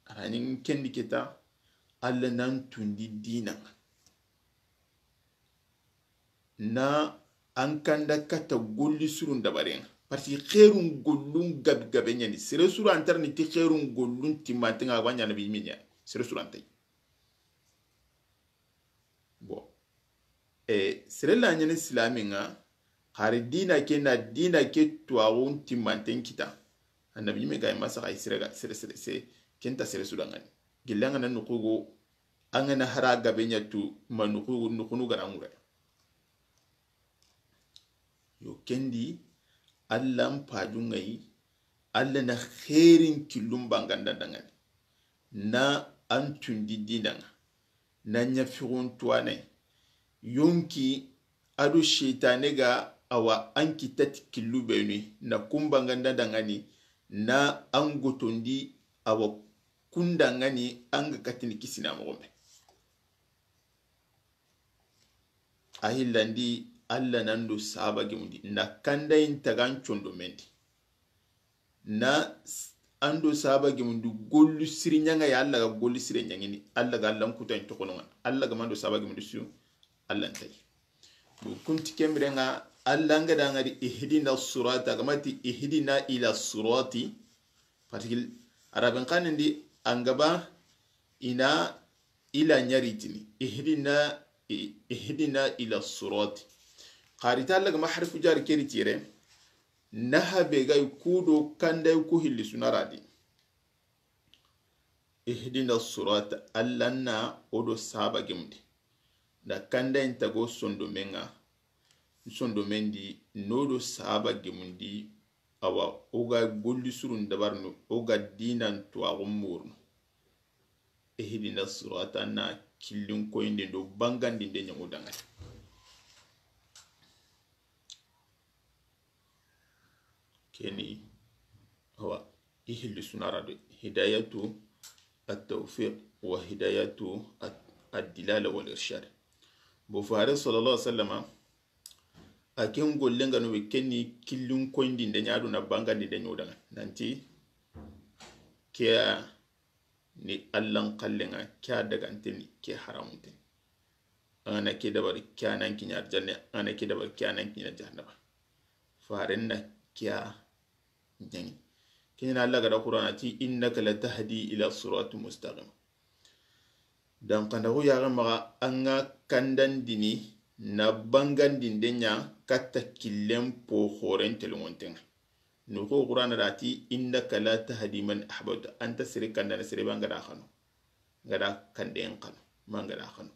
A ra ɲaŋini kendi kita, Alla nan tundi dina ŋa. Na an kanda kata golli surun dabaren ŋa. Parce que xeerun gollun gabi gabe ɲani. Sere suru antarni ti xeerun gollun timmanten ŋa, a wa ɲana bi miɲa. Sere suru antay. Bon. E, sere la ɲani silamin ŋa, xari dina ke na dina ke tuwaxun timmanten kita. Annabi ɲime ga ma saxa sere ga, sere, sere, sere, kenta sere su danŋani. Gilla ŋa na nuxugo, an ga na hara gabe ɲa tu, ma nuxugo, nuxunu ga na ŋure. Yo kendi, Alla n paju ŋa yi, Alla na xeerin killun banganda danŋani. Na an tundi dina ŋa. Na ɲa fixun tuwane. Yonki ado seytane ga awa an kitati killu benu, na kun banganda danŋani, na an gotondi awa kun danŋani an ga katini kisina moxo me. A hillandi, Alla nan do sahaba gemundi, na kandayin tagan condo mendi. Na s-, an do sahaba gemundi gollu siri ɲaŋa ya, Alla ga gollu sire ɲaŋini, Alla ga Alla n kuta in toxono ŋa, Alla ga mando sahaba gemundi su, Alla n tayi. Bo kunti kemire ŋa, Alla n ga da ŋa di ihdina sirata, ga ma ti ihdina ila sirati, parce que arabin xanin di an ga ba ina ila ɲaritini. Ihdina, i-, ihdina ila sirati. Xari ta Alla ga ma harfu jari keri tire. Naha be ga yi kudo kanda yi ku hilli sunaradi. Ihdina sirata, Alla na o do sahaba gemundi. Na kanda in tago sondo me ŋa. sondomen di, no do sahaba gemundi, awa, o ga golli surun dabarnu, o ga dinan tuwaxu murunu. Ihdina sirata na killin koyinde do bangandinde ɲamu dangani. Keni, awa, i hilli sunara de. Hidayatu at-tawfiq wa hidayatu at-, ad-dilala wal irshad. Bo fare sallallahu alaihi wasallama, a ken gollen ga no be keni killin koyindinde ɲa do na bangandinde ɲo danga. Nanti, ke ya ni Allan kallenga, ke ya daganteni, ke haramunteni. An ga na ke dabari, ke ya nan kiɲa arjanne, an ga na ke dabari, ke ya nan kiɲa jahannaba. Faren na ke ya ɲaŋi. Keɲana Alla ga da Qur'ana ti, "Innaka latahdi ila siratin mustaqim." Dan kanda ko yaga maga an ga kandandini na bangandinde ɲa katta killen po xoren telongontenga. No ko Qur'ana da ti, "Innaka latahdi man ahbabta." Anta sere kandana sere banga da xano. Ga da kanden xano. Manga da xano.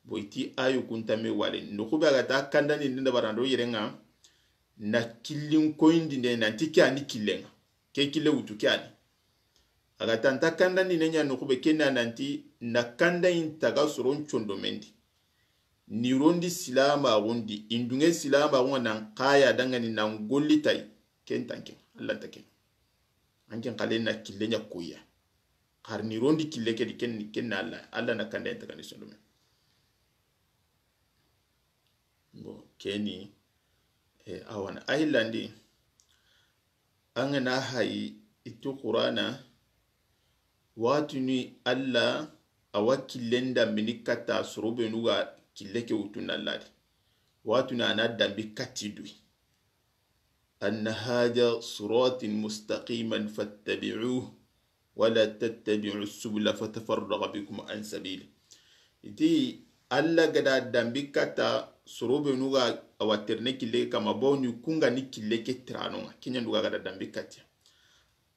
Boy ti ayu kunta me wale. No ko be ga ta kandandinde da barando yerenga. Na killin koyindinde nanti ke ani killenga. Ke kille wutu ke ani. A ga tanta kandandine ɲa noxu be kenna nanti na kandayin taga soron condomen di. Ni rondi silamaxundi, indunge silamaxunga nan kaya dangani nan golli tay, ken tanke, Alla ta ken. Anken xale na kille ɲa koya. Xar ni rondi kille ke di ken, ken na Alla, Alla na kandayin taga ni sondomen. Bon, keni, eh, awana. A hillandi, an ga na hayi, i ti Qur'ana, waxatuni Alla a wa killen dambini katta soro benu ga kille ke wutu na Alla di. Waxatuni a na dambi katti duyi. Anna hadha sirati mustaqiman fattabi'uhu wala tattabi'u subula fatafarraqa bikum an sabili. I ti Alla ga da dambi katta soro benu ga a wa terene kille kama, bawni ku nga ni kille ke tiranonga. Keɲa nduga ga da dambi katti.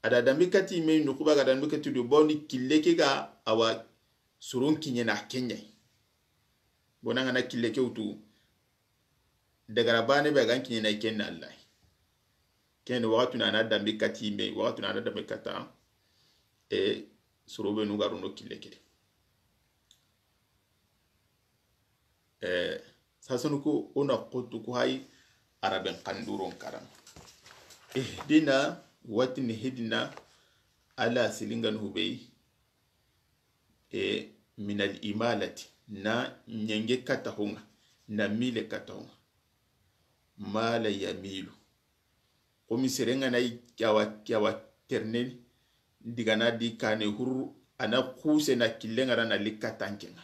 A da dambi katti me noxu ba ga da dambi katti do, bawni kille ke ga a wa soron kiɲena keɲai. Bona nga na kille ke wutu. Dagara bane be a ga n kiɲena i ken na Alla. Ken waxatuni a na dambi katti me, waxatuni a na dambi katta, e, soro benu ga rono kille ke di. E, sasanu ko o na xotu ko hay araben xanduron karan. Ihdina, watini hidina, ala silinganu hubei, e, minal imalati, na ɲenge katta honga, na mile katta honga. Mala yamilu. Komi serenga na i kyawa, kyawa ternen, digana di kane huru, ana kuse na killenga ra na likka tankenga.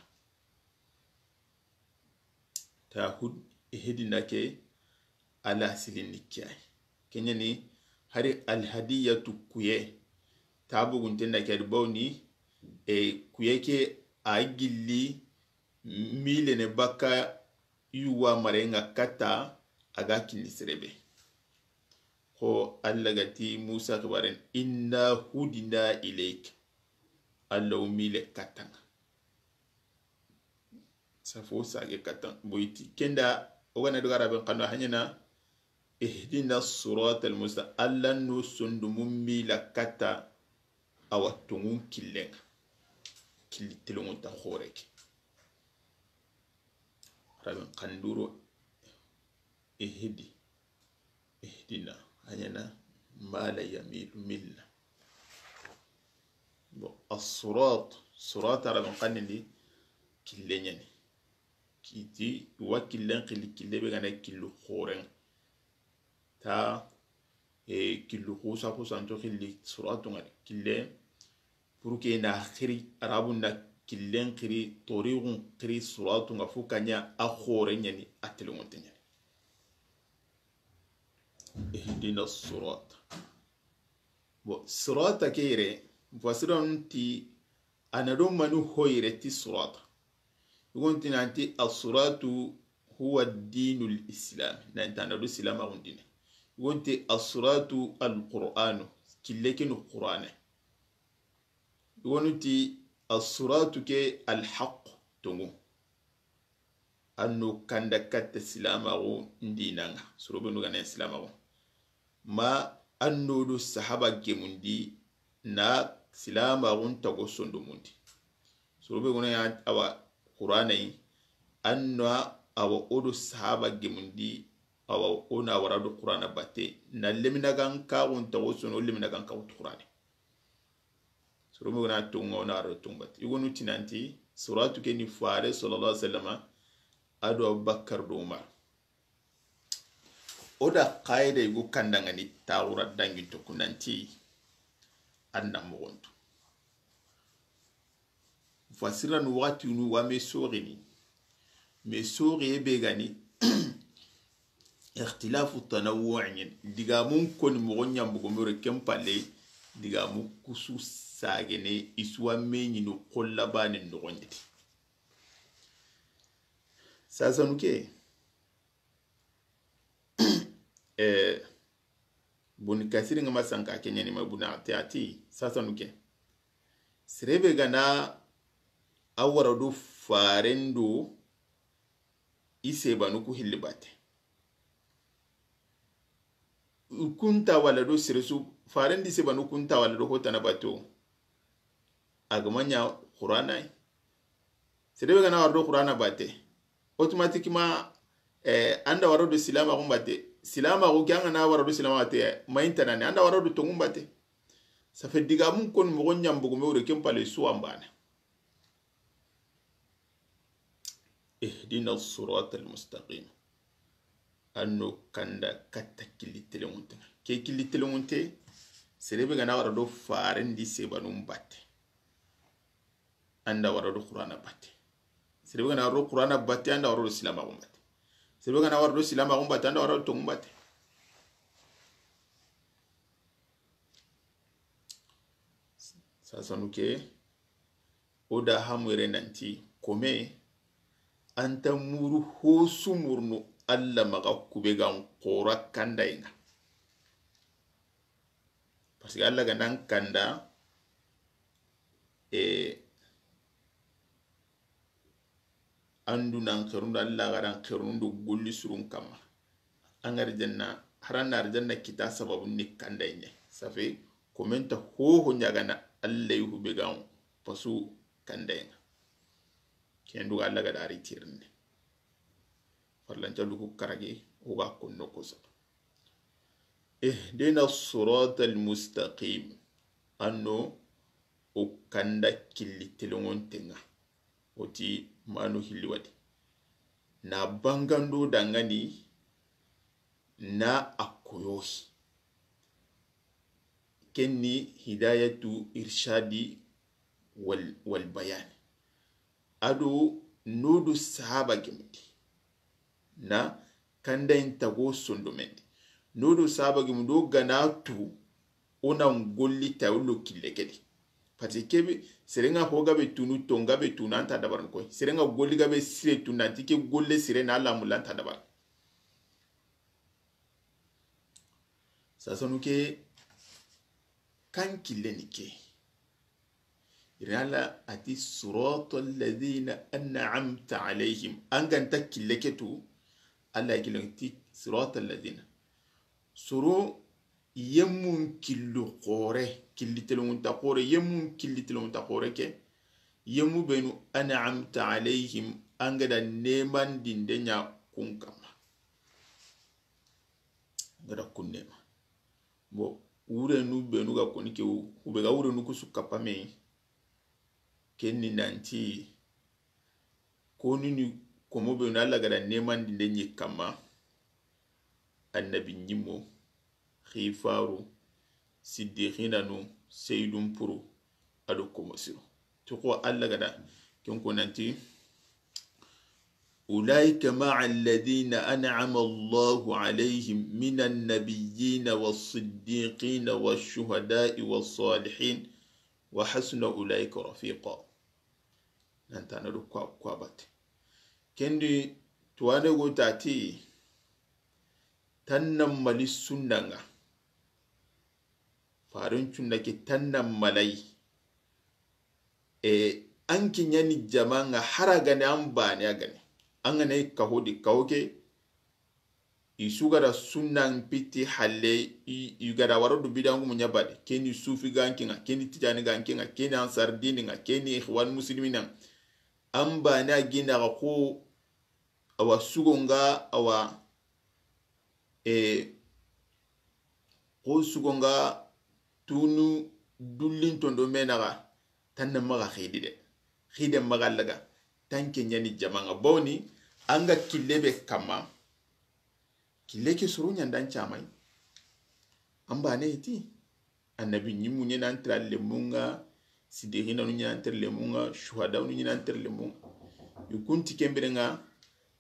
Ta hud, hidina ke, ala silin ni kyai. Kenyani, hari alhadiyatu kuye. Ta bugunten na kyadi bawni, e, kuye ke a gilli, mile ne baka yuwa marenga katta a ga kinni serebe. Ko Alla ga ti Musa xibaren, "Inna hudina ilayk." Alla o mile kattanga. Safo sage kattan. Boyti kenda, o gana daga raben kando hanyana, "Ihdina sirata al-musta-," Alla no sondumu mila katta, a wa tongun killenga. Killi telongun ta xoreke. Raben kanduro, ihdi, ihdina, a ɲana mala yamilu milla. Bon, as-sirat, sirat araben kannindi kille ɲani. Kiti wa killen xilli, kille be gana killu xoren. Ta, e, killu xusa xusanto xilli siratu ŋa de. Kille, pour que na xiri, arabu na killen xiri, torixun xiri siratu ŋa fo kaɲa a xore ɲani, a telengonte ɲani. Ihdina sirat. Bon, sirata ke yere, mufassirun ti, a na do mani ho yere ti sirata. Yugon ti nanti as-siratu huwa dinul islam. Nanti a na do silamaxun dine. Yugon ti as-siratu al-Qur'anu. Kille kinu Qur'ane. Yugon ti as-siratu ke al-haq, tongu. an no kanda katta silamaxu ndinanga, soro be nu ga na silamaxu. Ma an no do sahaba gemundi na silamaxun tago sondomundi. Soro be gona ya awa Qur'ana yi, an no awa o do sahaba gemundi, awa o na wara do Qur'ana batte, na lemina gan kaxun tago sono, lemina gan kaxu Qur'ana. Soro be gona tonga, o na wara do tonga batte. I gonu tinanti, suratu ke ni fare sallallahu alaihi wasallama, a do Abubakar do Umar. O da qaida yugo kandangani taxura dangi to kunanti an na moxontu. Fasiranu waxati nu wa me soxini. Me soxiye be gani, ikhtilafu tanawwu ñen. Digamun koni moxo ñambugo mero ken palle, digamu kusu sagene isuwa me ñinu xolla bane noxoñeti. Sasanu ke, eh, Bun Kasiri nga ma sanka ke ñani ma buna te ati sasanu ke. Sere be gana a wara do farendo i sebanu ku hilli bate. Kunta wala do sere su farendi sebanu kunta wala do hotana bato. A ga ma ña Qur'ana yi. Sere be gana wara do Qur'ana bate, automatiquement, eh, an da wara do silamaxu bate. Silamaxu ke an ga na wara do silamaxu bate, mayintanani, an da wara do tongu bate. Ça fait digamun koni moxo ñambugu me wure ken pale suwa mbana. Ihdina sirata almustaqim. An no kanda katta killi telenŋunte. Ke killi telenŋunte, sere be gana wara do farendi sebanun batte, an da wara do Qur'ana batte. Sere be gana wara do Qur'ana batte, an da wara do silamaxu batte. Sere be gana wara do silamaxu batte, an da wara do tongu batte. Sasanu ke, o da hamure nanti kome, an ta muru hosu murnu Alla maxa kube gan xora kandayenga. Parce que Alla ga nan kanda, e, an du nan xerundu, Alla ga nan xerundu golli surun kamma. An ga arjanna, haran na arjanna kita sababu ni kandaye. Ça fait, komenta hoho ñagana Alla yuhu be gan pasu kandayenga. Kendu Alla ga dari tirinde. Farlancalu ku karagi, o ga konno koso. Ihdina sirata almustaqim. An no o kanda killi telenŋontenga. O ti manu hilli wadi. Na bangando dangani na a koyohi. Kenni hidayatu irshadi wal, wal bayani. Ado nodo sahaba gemundi na kandayin tago sondomendi. Nodo sahaba gemundi o gana tu, o na golli ta o lo kille kedi. Parce que kebe serenga ho gabe tunu, tonga be tunu, anta dabaran koy. Serenga golli gabe sire tunu, anti ke golle sire na lamu lanta dabaran. Sasanu ke kan kille ni ke. Irala ati sirata alladhina an'amta alayhim. An ganta kille ke tu, Alla kille ti sirata alladhina. Soro yemmun killu xore, killi telenŋunta xore, yemmun killi telenŋunta xore ke. Yemmu benu an'amta alayhim, an gada nemandinde ña kun kamma. Gada kun nema. Bon, wurenu benu ga koni ke, u be ga wurenu kusu kapame. Kenni nanti, konini komo benu Alla gada nemandinde ñi kamma. Annabi ñimmo, xifaru, siddiqinanu, seydun puru, ado komo siro. Toko Alla gada ken ko nanti, أولئك مع الذين أنعم الله عليهم من النبيين والصديقين والشهداء والصالحين وحسن أولئك رفيقا. Nantana do kwa, kwa bate. Kendi tuwane go tati, tanna mali sundanga. Farin cunda ke tanna malai. E, an kiñani jamanga hara gane an bane a gane. An ga na i kaho di, kaho ke, i su ga da sunnan piti halle, i, i ga da wara du bidangumu ɲa bade. Ke ni sufi ganke ŋa, ke ni tijani ganke ŋa, ke ni ansar dini ŋa, ke ni ikhwan muslimina. An bana gina ga ko, awa sugo ŋa, awa, e, ko sugo ŋa tunu dullin tondo menaga, tanna maga xidi de. Xide maga laga, tanke ɲani jamaŋa. Bawni, an ga kille be kamma, kille ke soro ɲandan camay. An bane hiti, annabi ɲimmu ɲena antira lemunŋa, sidiqinanu ɲena antira lemunŋa, shuhadanu ɲena antira lemunŋa. I kunti kembirenŋa,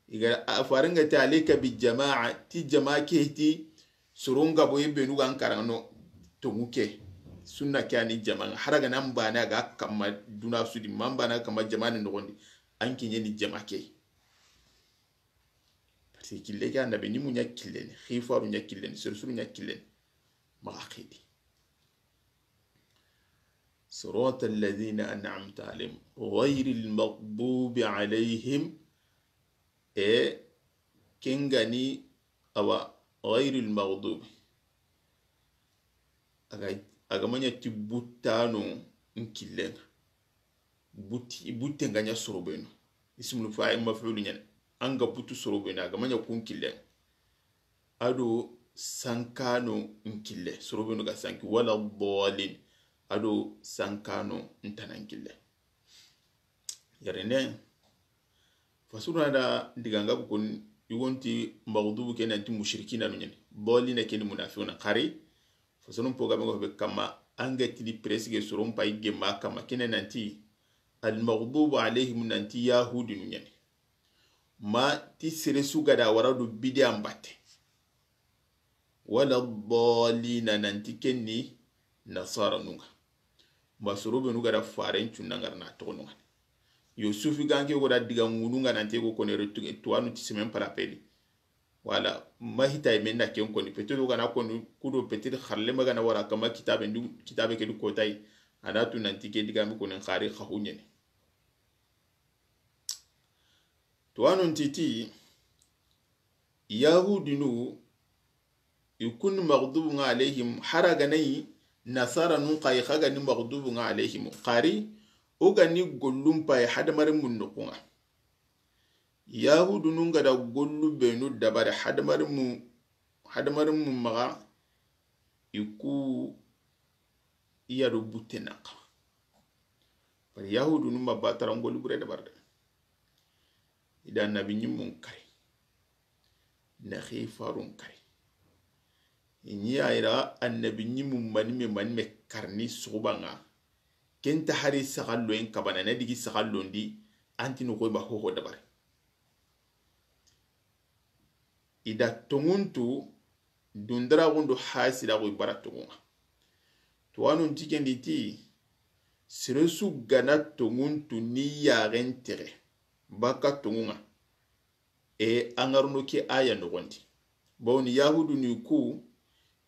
i ga a farenŋa ti alayka bi jamaa, ti jamaa ke hiti, soron ga boye benu ga an karaŋa no, tongu ke, sunna ke ani jamaŋa, hara ga nan bane a ga kamma duna sudi, man bane a ga kamma jamaane noxondi, an ke ɲeni jamaa ke. Parce que kille ke annabi ɲimmu ɲa killeni, xifaru ɲa killeni, sersuru ɲa killeni, maxa xidi. صراط الذين أنعمت عليهم غير المغضوب عليهم. E, kengani, awa, غير المغضوب. Aga, aga maɲa ti buttano nkillenŋa. Butti, butte nga ɲa sorobenu. Ismul fa'il maf'ul ɲani. Anga buttu sorobenu, aga maɲa kun killenŋa. Ado sankano nkille, sorobenu ga sanki, ولا الضالين. Ado sankano ntana nkille. Yarene, fasuru na da diganga bu kun, yugonti maghdubu ke nanti mushrikina nu ɲani. Dhalina ke ni munafiquna xari. Fasuru po ga be ngo be kamma, anga tini presque soron pay gemma kamma, kene nanti al maghdubu alayhim nanti yahudi nu ɲani. Ma ti sere su ga da wara do bidiya mbatte. ولا الضالين nanti ken ni nasara nunŋa. Ma soro benu ga da faren cunna ngara na toxo nunŋa. Yo sufi ganke go da diga ŋununŋa nanti go kone re tu-, tuwanu ti semaine par appel. Wala, ma hita i menna ken koni. Peut-être o ga na koni kudo peut-être xarle ma ga na wara kama kitabe ndu, kitabe ke du kotay. A na tu nanti ke diga mi koni xari xahu ɲeni. Tuwanun titi, yahudinu, i kun maghdubu nga alayhim, hara ga nayi nasara nun xa yi xa ga ni maghdubu nga alayhim. Xari, o ga ni gollun pay hadamarin mun noxunŋa. Yahudinu nga da gollu benu dabari hadamarin mu, hadamarin mu maxa, i ku iya do butte nanka. Bari yahudinu ma batara ngollu bure dabari de. I da annabi ɲimmun kari. Na xifarun kari. I ɲi a yira annabi ɲimmu manime, manime karni suxubanŋa. Kenta hari saxalloyen kabana, na digi saxallondi, antini xoy ma hoho dabari. I da tonŋuntu dundaraxundu hasidaxu i bara tonŋunŋa. Tuwanun ti kendi ti, sere su ga na tonŋuntu ni yaxen texe, baka tonŋunŋa. E, an ga ro no ke aya noxondi. Bawni yahudinu ku,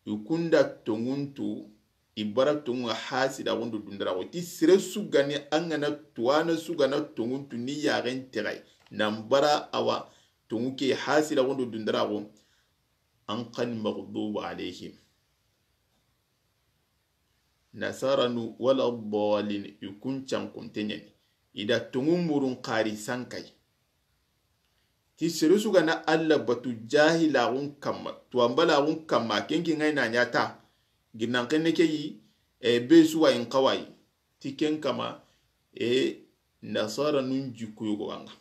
i kun da tonŋuntu, i bara tonŋunŋa hasidaxundu dundaraxu. Ti sere su ga ni an ga na tuwana su ga na tonŋuntu ni yaxen texe, nan bara awa tonŋu ke hasidaxundu dundaraxu, an xa ni maghdubu alayhim. Nasaranu ولا الضالين, i kun cankunte ɲeni. I da tonŋun murun xari sankay. Ti sere su ga na Alla batu jahilaxun kamma, tuwanbalaxun kamma, ken ke nga i na ɲata. Ginnan xenne ke yi, e, be su wa in xawayi. Ti ken kama, e, nasara nun jikku yogo wanga.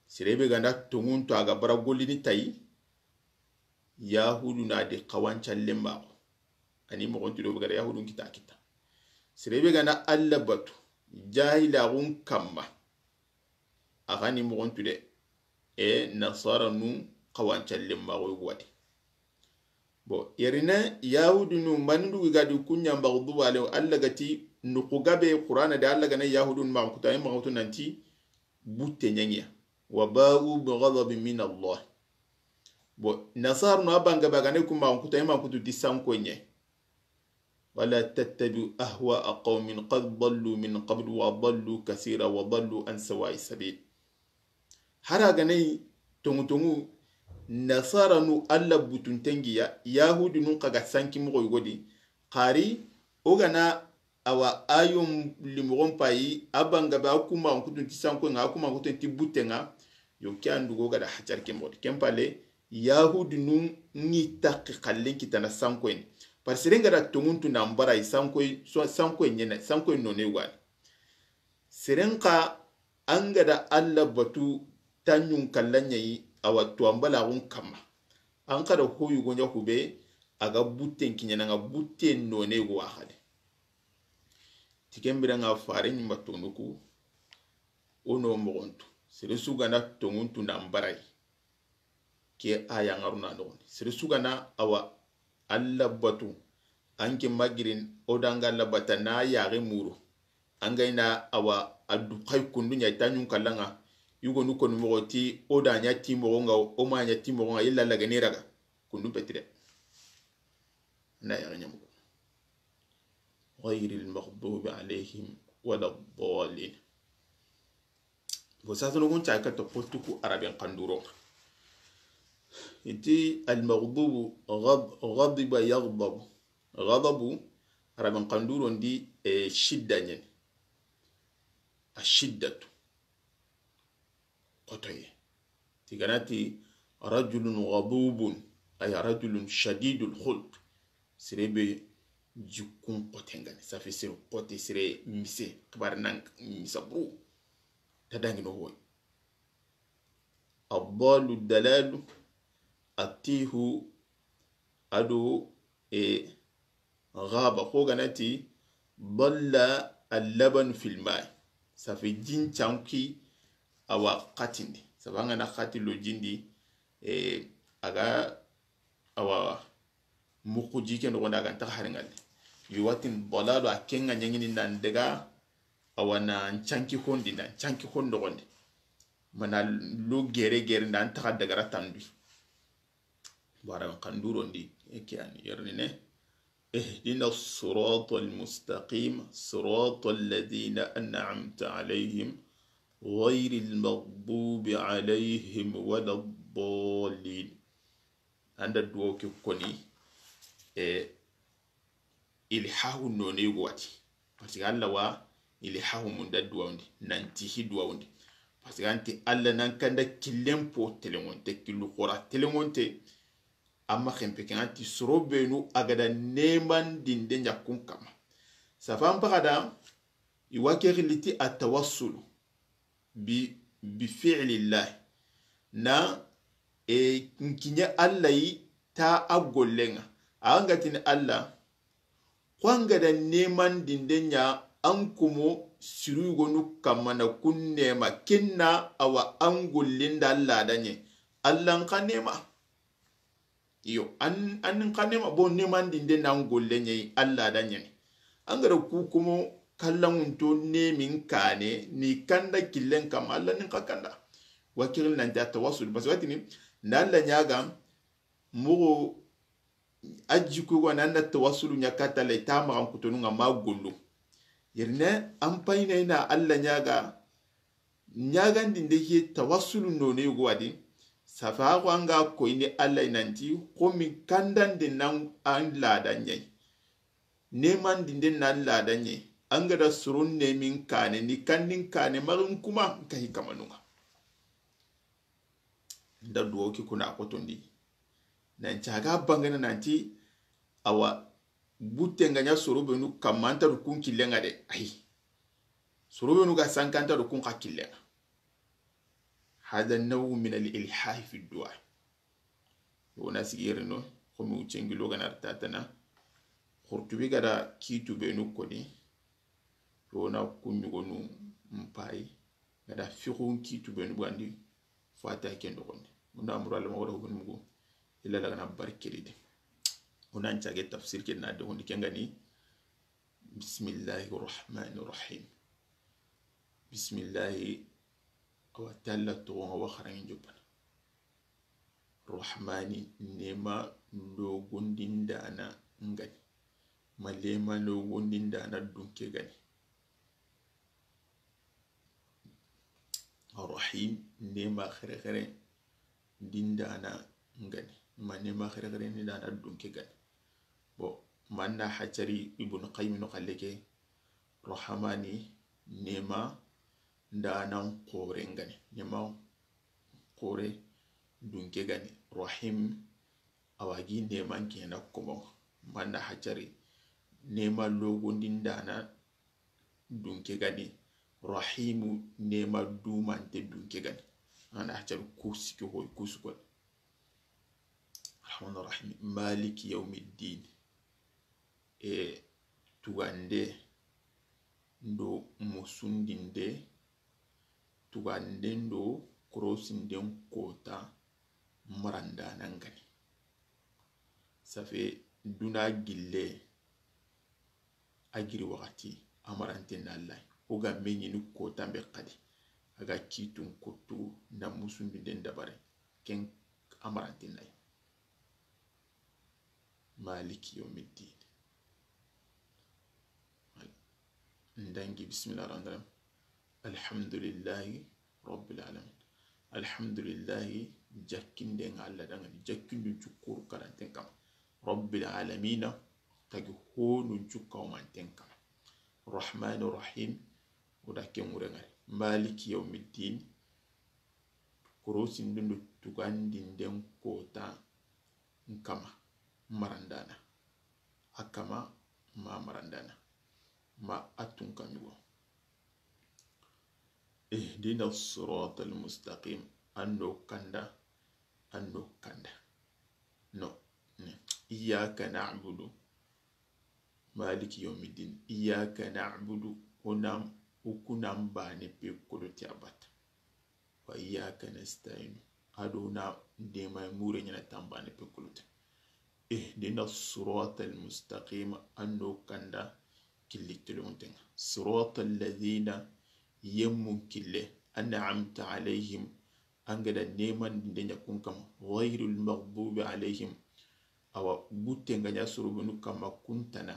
Sere be ga nda tonŋun to a ga bara gollini tayi, yahudu na di xawancallen maxo. Ani moxon ti do be ga da yahudun kita kita. Sere be ga nda Alla batu, jahilaxun kamma. A xa ni moxon tu de, e nasara nu xawancallen maxo yogo wadi. Bon, yerine yahudinu manindu ga di kuɲa maghdubu alayhim, Alla ga ti nuxu gabe Qur'ana de, Alla ga na yahudinu maxa kutu, ay maxa kutu nanti butte ɲangiya. وباءوا بغضب من الله. Bon, nasaranu a banga ba ga na ku maxa kutu, ay maxa kutu ti sanko ɲe. ولا تتبعوا أهواء قوم قد ضلوا من قبل وأضلوا كثيرا وضلوا عن سواء السبيل. Hari a ga na yi tonŋu tonŋu, nasaranu Alla butunten ŋa ya, yahudinun xa ga sanki moxo yogo di, xari o ga na awa ayon limoxon payi, a banga be a kuma kutun ti sankoyen ŋa, a kuma kutun ti butten ŋa, yo ke an dugo ga da hajar ke moxo di. Ken palle, yahudinun ŋi taxi xallen kitana sankoyen. Par seren ga da tonŋun tu nan bara yi sankoy, so-, sankoyen ɲene, sankoyen none wani. Seren xa an ga da Alla batu tanɲun kallan ɲa yi, awa tuwanbalaxun kamma. An xa da ho yogo ɲa hube, a ga butten kiɲana ŋa, butten none go a xale. Ti ken biren ŋa fare ɲi ma tonu ku, o no moxon tu. Sere su ga na tonŋun tu nan bara yi. Ke a ya ŋa ru na noxon di. Sere su ga na awa Alla batu, an ke ma girin o da ŋa Alla bata na yaxe muru. An ga ina awa a du xay kundu ɲa tanɲun kallan ŋa. Yugonu konu moxo ti o da ɲa ti moxo ŋa, o ma ɲa ti moxo ŋa, yilla Alla ga ni raga. Kundu peti de. Na yaxe ɲa moxo. غير المغضوب عليهم ولا الضالين. Bo sasa no gun ca ka to potu ku Araben xanduro. Iti al maghdubu ghad-, ghadiba yaghdabu. Ghadabu, Araben xanduro ndi, e, shidda ɲen. A shiddatu. Xotoye. Ti ga na ti rajulun ghadubun, ay rajulun shadidul khulq. Sere be jikkun xote ŋa ni. Ça fait sere xote, sere mise, xibaare nan misa buru. Ta dangi no hoy. Addalu dalalu, atihu, ado, e, ghaba, ko ga na ti dalla al-labanu fil ma'i. Ça fait jin canki awa xatindi. Ça fait an ga na xati lo jin di, e, a ga awa muxu ji ke noxon di a ga nta hari ŋalle. Yo watin dalalu a ke ŋa ɲaŋini nan daga awa nan canki hondi, nan canki hon noxon di. Mana lo gere gere nan ta xa daga ra tandu. Bara xanduro ndi, e ke an yerni ne. اهدنا الصراط المستقيم، صراط الذين أنعمت عليهم، غير المغضوب عليهم ولا الضالين. An da duwawu ke koni, e, ilhahu none yogo wati. Parce que Alla wa ilhahu mun da duwawundi, nan ti hi duwawundi. Parce que an ti Alla nan kanda killen po telenŋonte, killu xora telenŋonte, amma xenpe ke an ti soro benu a ga da neman dinde ɲa kun kamma. Ça fait an paxa da, i wa ke xilli ti a tawassulu bi, bi fi'lillahi. Na, e, n kiɲe Alla yi ta a gollen ŋa. A ga tini Alla, ko an ga da neman dinde ɲa an komo siru yogonu kamma na kun nema, ken na awa an gollen da Alla da ɲe. Alla n xa nema. Iyo, an, an xa nema, bon, neman dinde nan golle ɲa yi Alla da ɲeni. An ga da ku komo kallanŋunto nemin kane, ni kanda killen kamma, Alla nin xa kanda. Wa kiri nanti a tawassul, parce que watini, nda Alla ɲaga, moxo, a jikku go nan da tawassulu ɲa katta Alla, i ta maxan kutonu ŋa ma gollu. Yerine, an payina ina Alla ɲaga, ɲagandinde ke tawassulu none yogo wa di, safa xo an ga koyini Alla yi nanti, xo mi kandande nan an lada ɲa yi. Nemandinde nan lada ɲa yi. An ga da soron nemin kane, ni kandin kane, maxin kuma, n kahi kamanun ŋa. Nda duwawu ke kuna xotondi. Nan caga bangana nanti, awa, butte nga ɲa soro benu kamma, an ta du kun killen ŋa de. Ayi. Soro benu ga sanka, an ta du kun xa killen ŋa. Hada nawu min al ilhahi fi du'a. Wona sigi yerino, xomi wuccengi lo gana tatana. Xurtubi ga da kitu benu koni. Wona kuɲugonu mpayi. Ga da fiqun kitu benu bugandi. Fata ken doxondi. Munda amuru Alla ma wara hubun mugu. Illa lagana barkiri de. Wona ncage tafsir ken na doxondi ken gani. بسم الله الرحمن الرحيم. بسم الله. Awa ti Alla toxon ŋa wa xaranŋe n joppana. Rahmani, nema logondindana ngani. Ma lema logondindana dunke gani. Arrahim, nema xerexere ndindana ngani. Ma nema xerexere ndindana dunke gani. Bon, manna hacari Ibn Qayyim no xalle ke, Rahamani nema ndanan xore ngani. Nema xore dunke gani. Rahim, awagi neman kena komo. Manna hacari nema logondi ndana dunke gani. Rahimu, nema dumante dunke gani. Ana hacari kusiki hoy kusukol. Rahman Rahim. Maliki yawmiddin. E tugande ndo musundinde, tugande ndo korosinden kota marandana ngani. Safe duna gille a giri waxati, a marante na Allah. O ga meñini kota be xadi, a ga kitun kottu na musundinden dabare, ken a marante na yi. Maliki yawmiddin. Ndangi bismillah rahman rahim. Alhamdulillahi rabbil alamin. Alhamdulillahi, jakkinden Allah dangani, jakkindun cukkuru karanten kama. Rabbil alamina, tagi honun cukkawmanten kama. Rahmani rahim, o da ke ŋurengari. Maliki yawmiddin, korosindundu tugandinden kota nkama marandana. A kama ma marandana. Ma a tunka ñugo. Ihdina siratal mustaqim. An do kanda, an do kanda. No. Iyyaka na'budu. Maliki yawmiddin. Iyyaka na'budu. Onam, ukunan bane pe kolo ti abata. Wa iyyaka nasta'in. Ado na dema mure ñana tambane pe kolo ti. Ihdina siratal mustaqim. An do kanda killi telontenga. Siratal ladhina, yemmun kille, an'amta alayhim, an ga da neman dinde ña kun kama. Ghayril maghdubi alayhim, awa gutte nga ña sorobenu kama kuntana.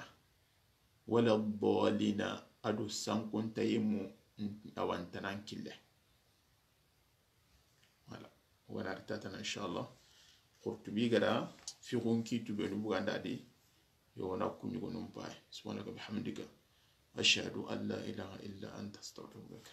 Wala dhalina, ado sankunta yemmu awantanan kille. Voilà. Wona ri tatana, inshallah. Qurtubi ga da fiqhun kitu benu buganda di. Yo, wona kuñugonun pay. Subhanaka bihamdika. Ashhadu an la ilaha illa anta astaghfiruka.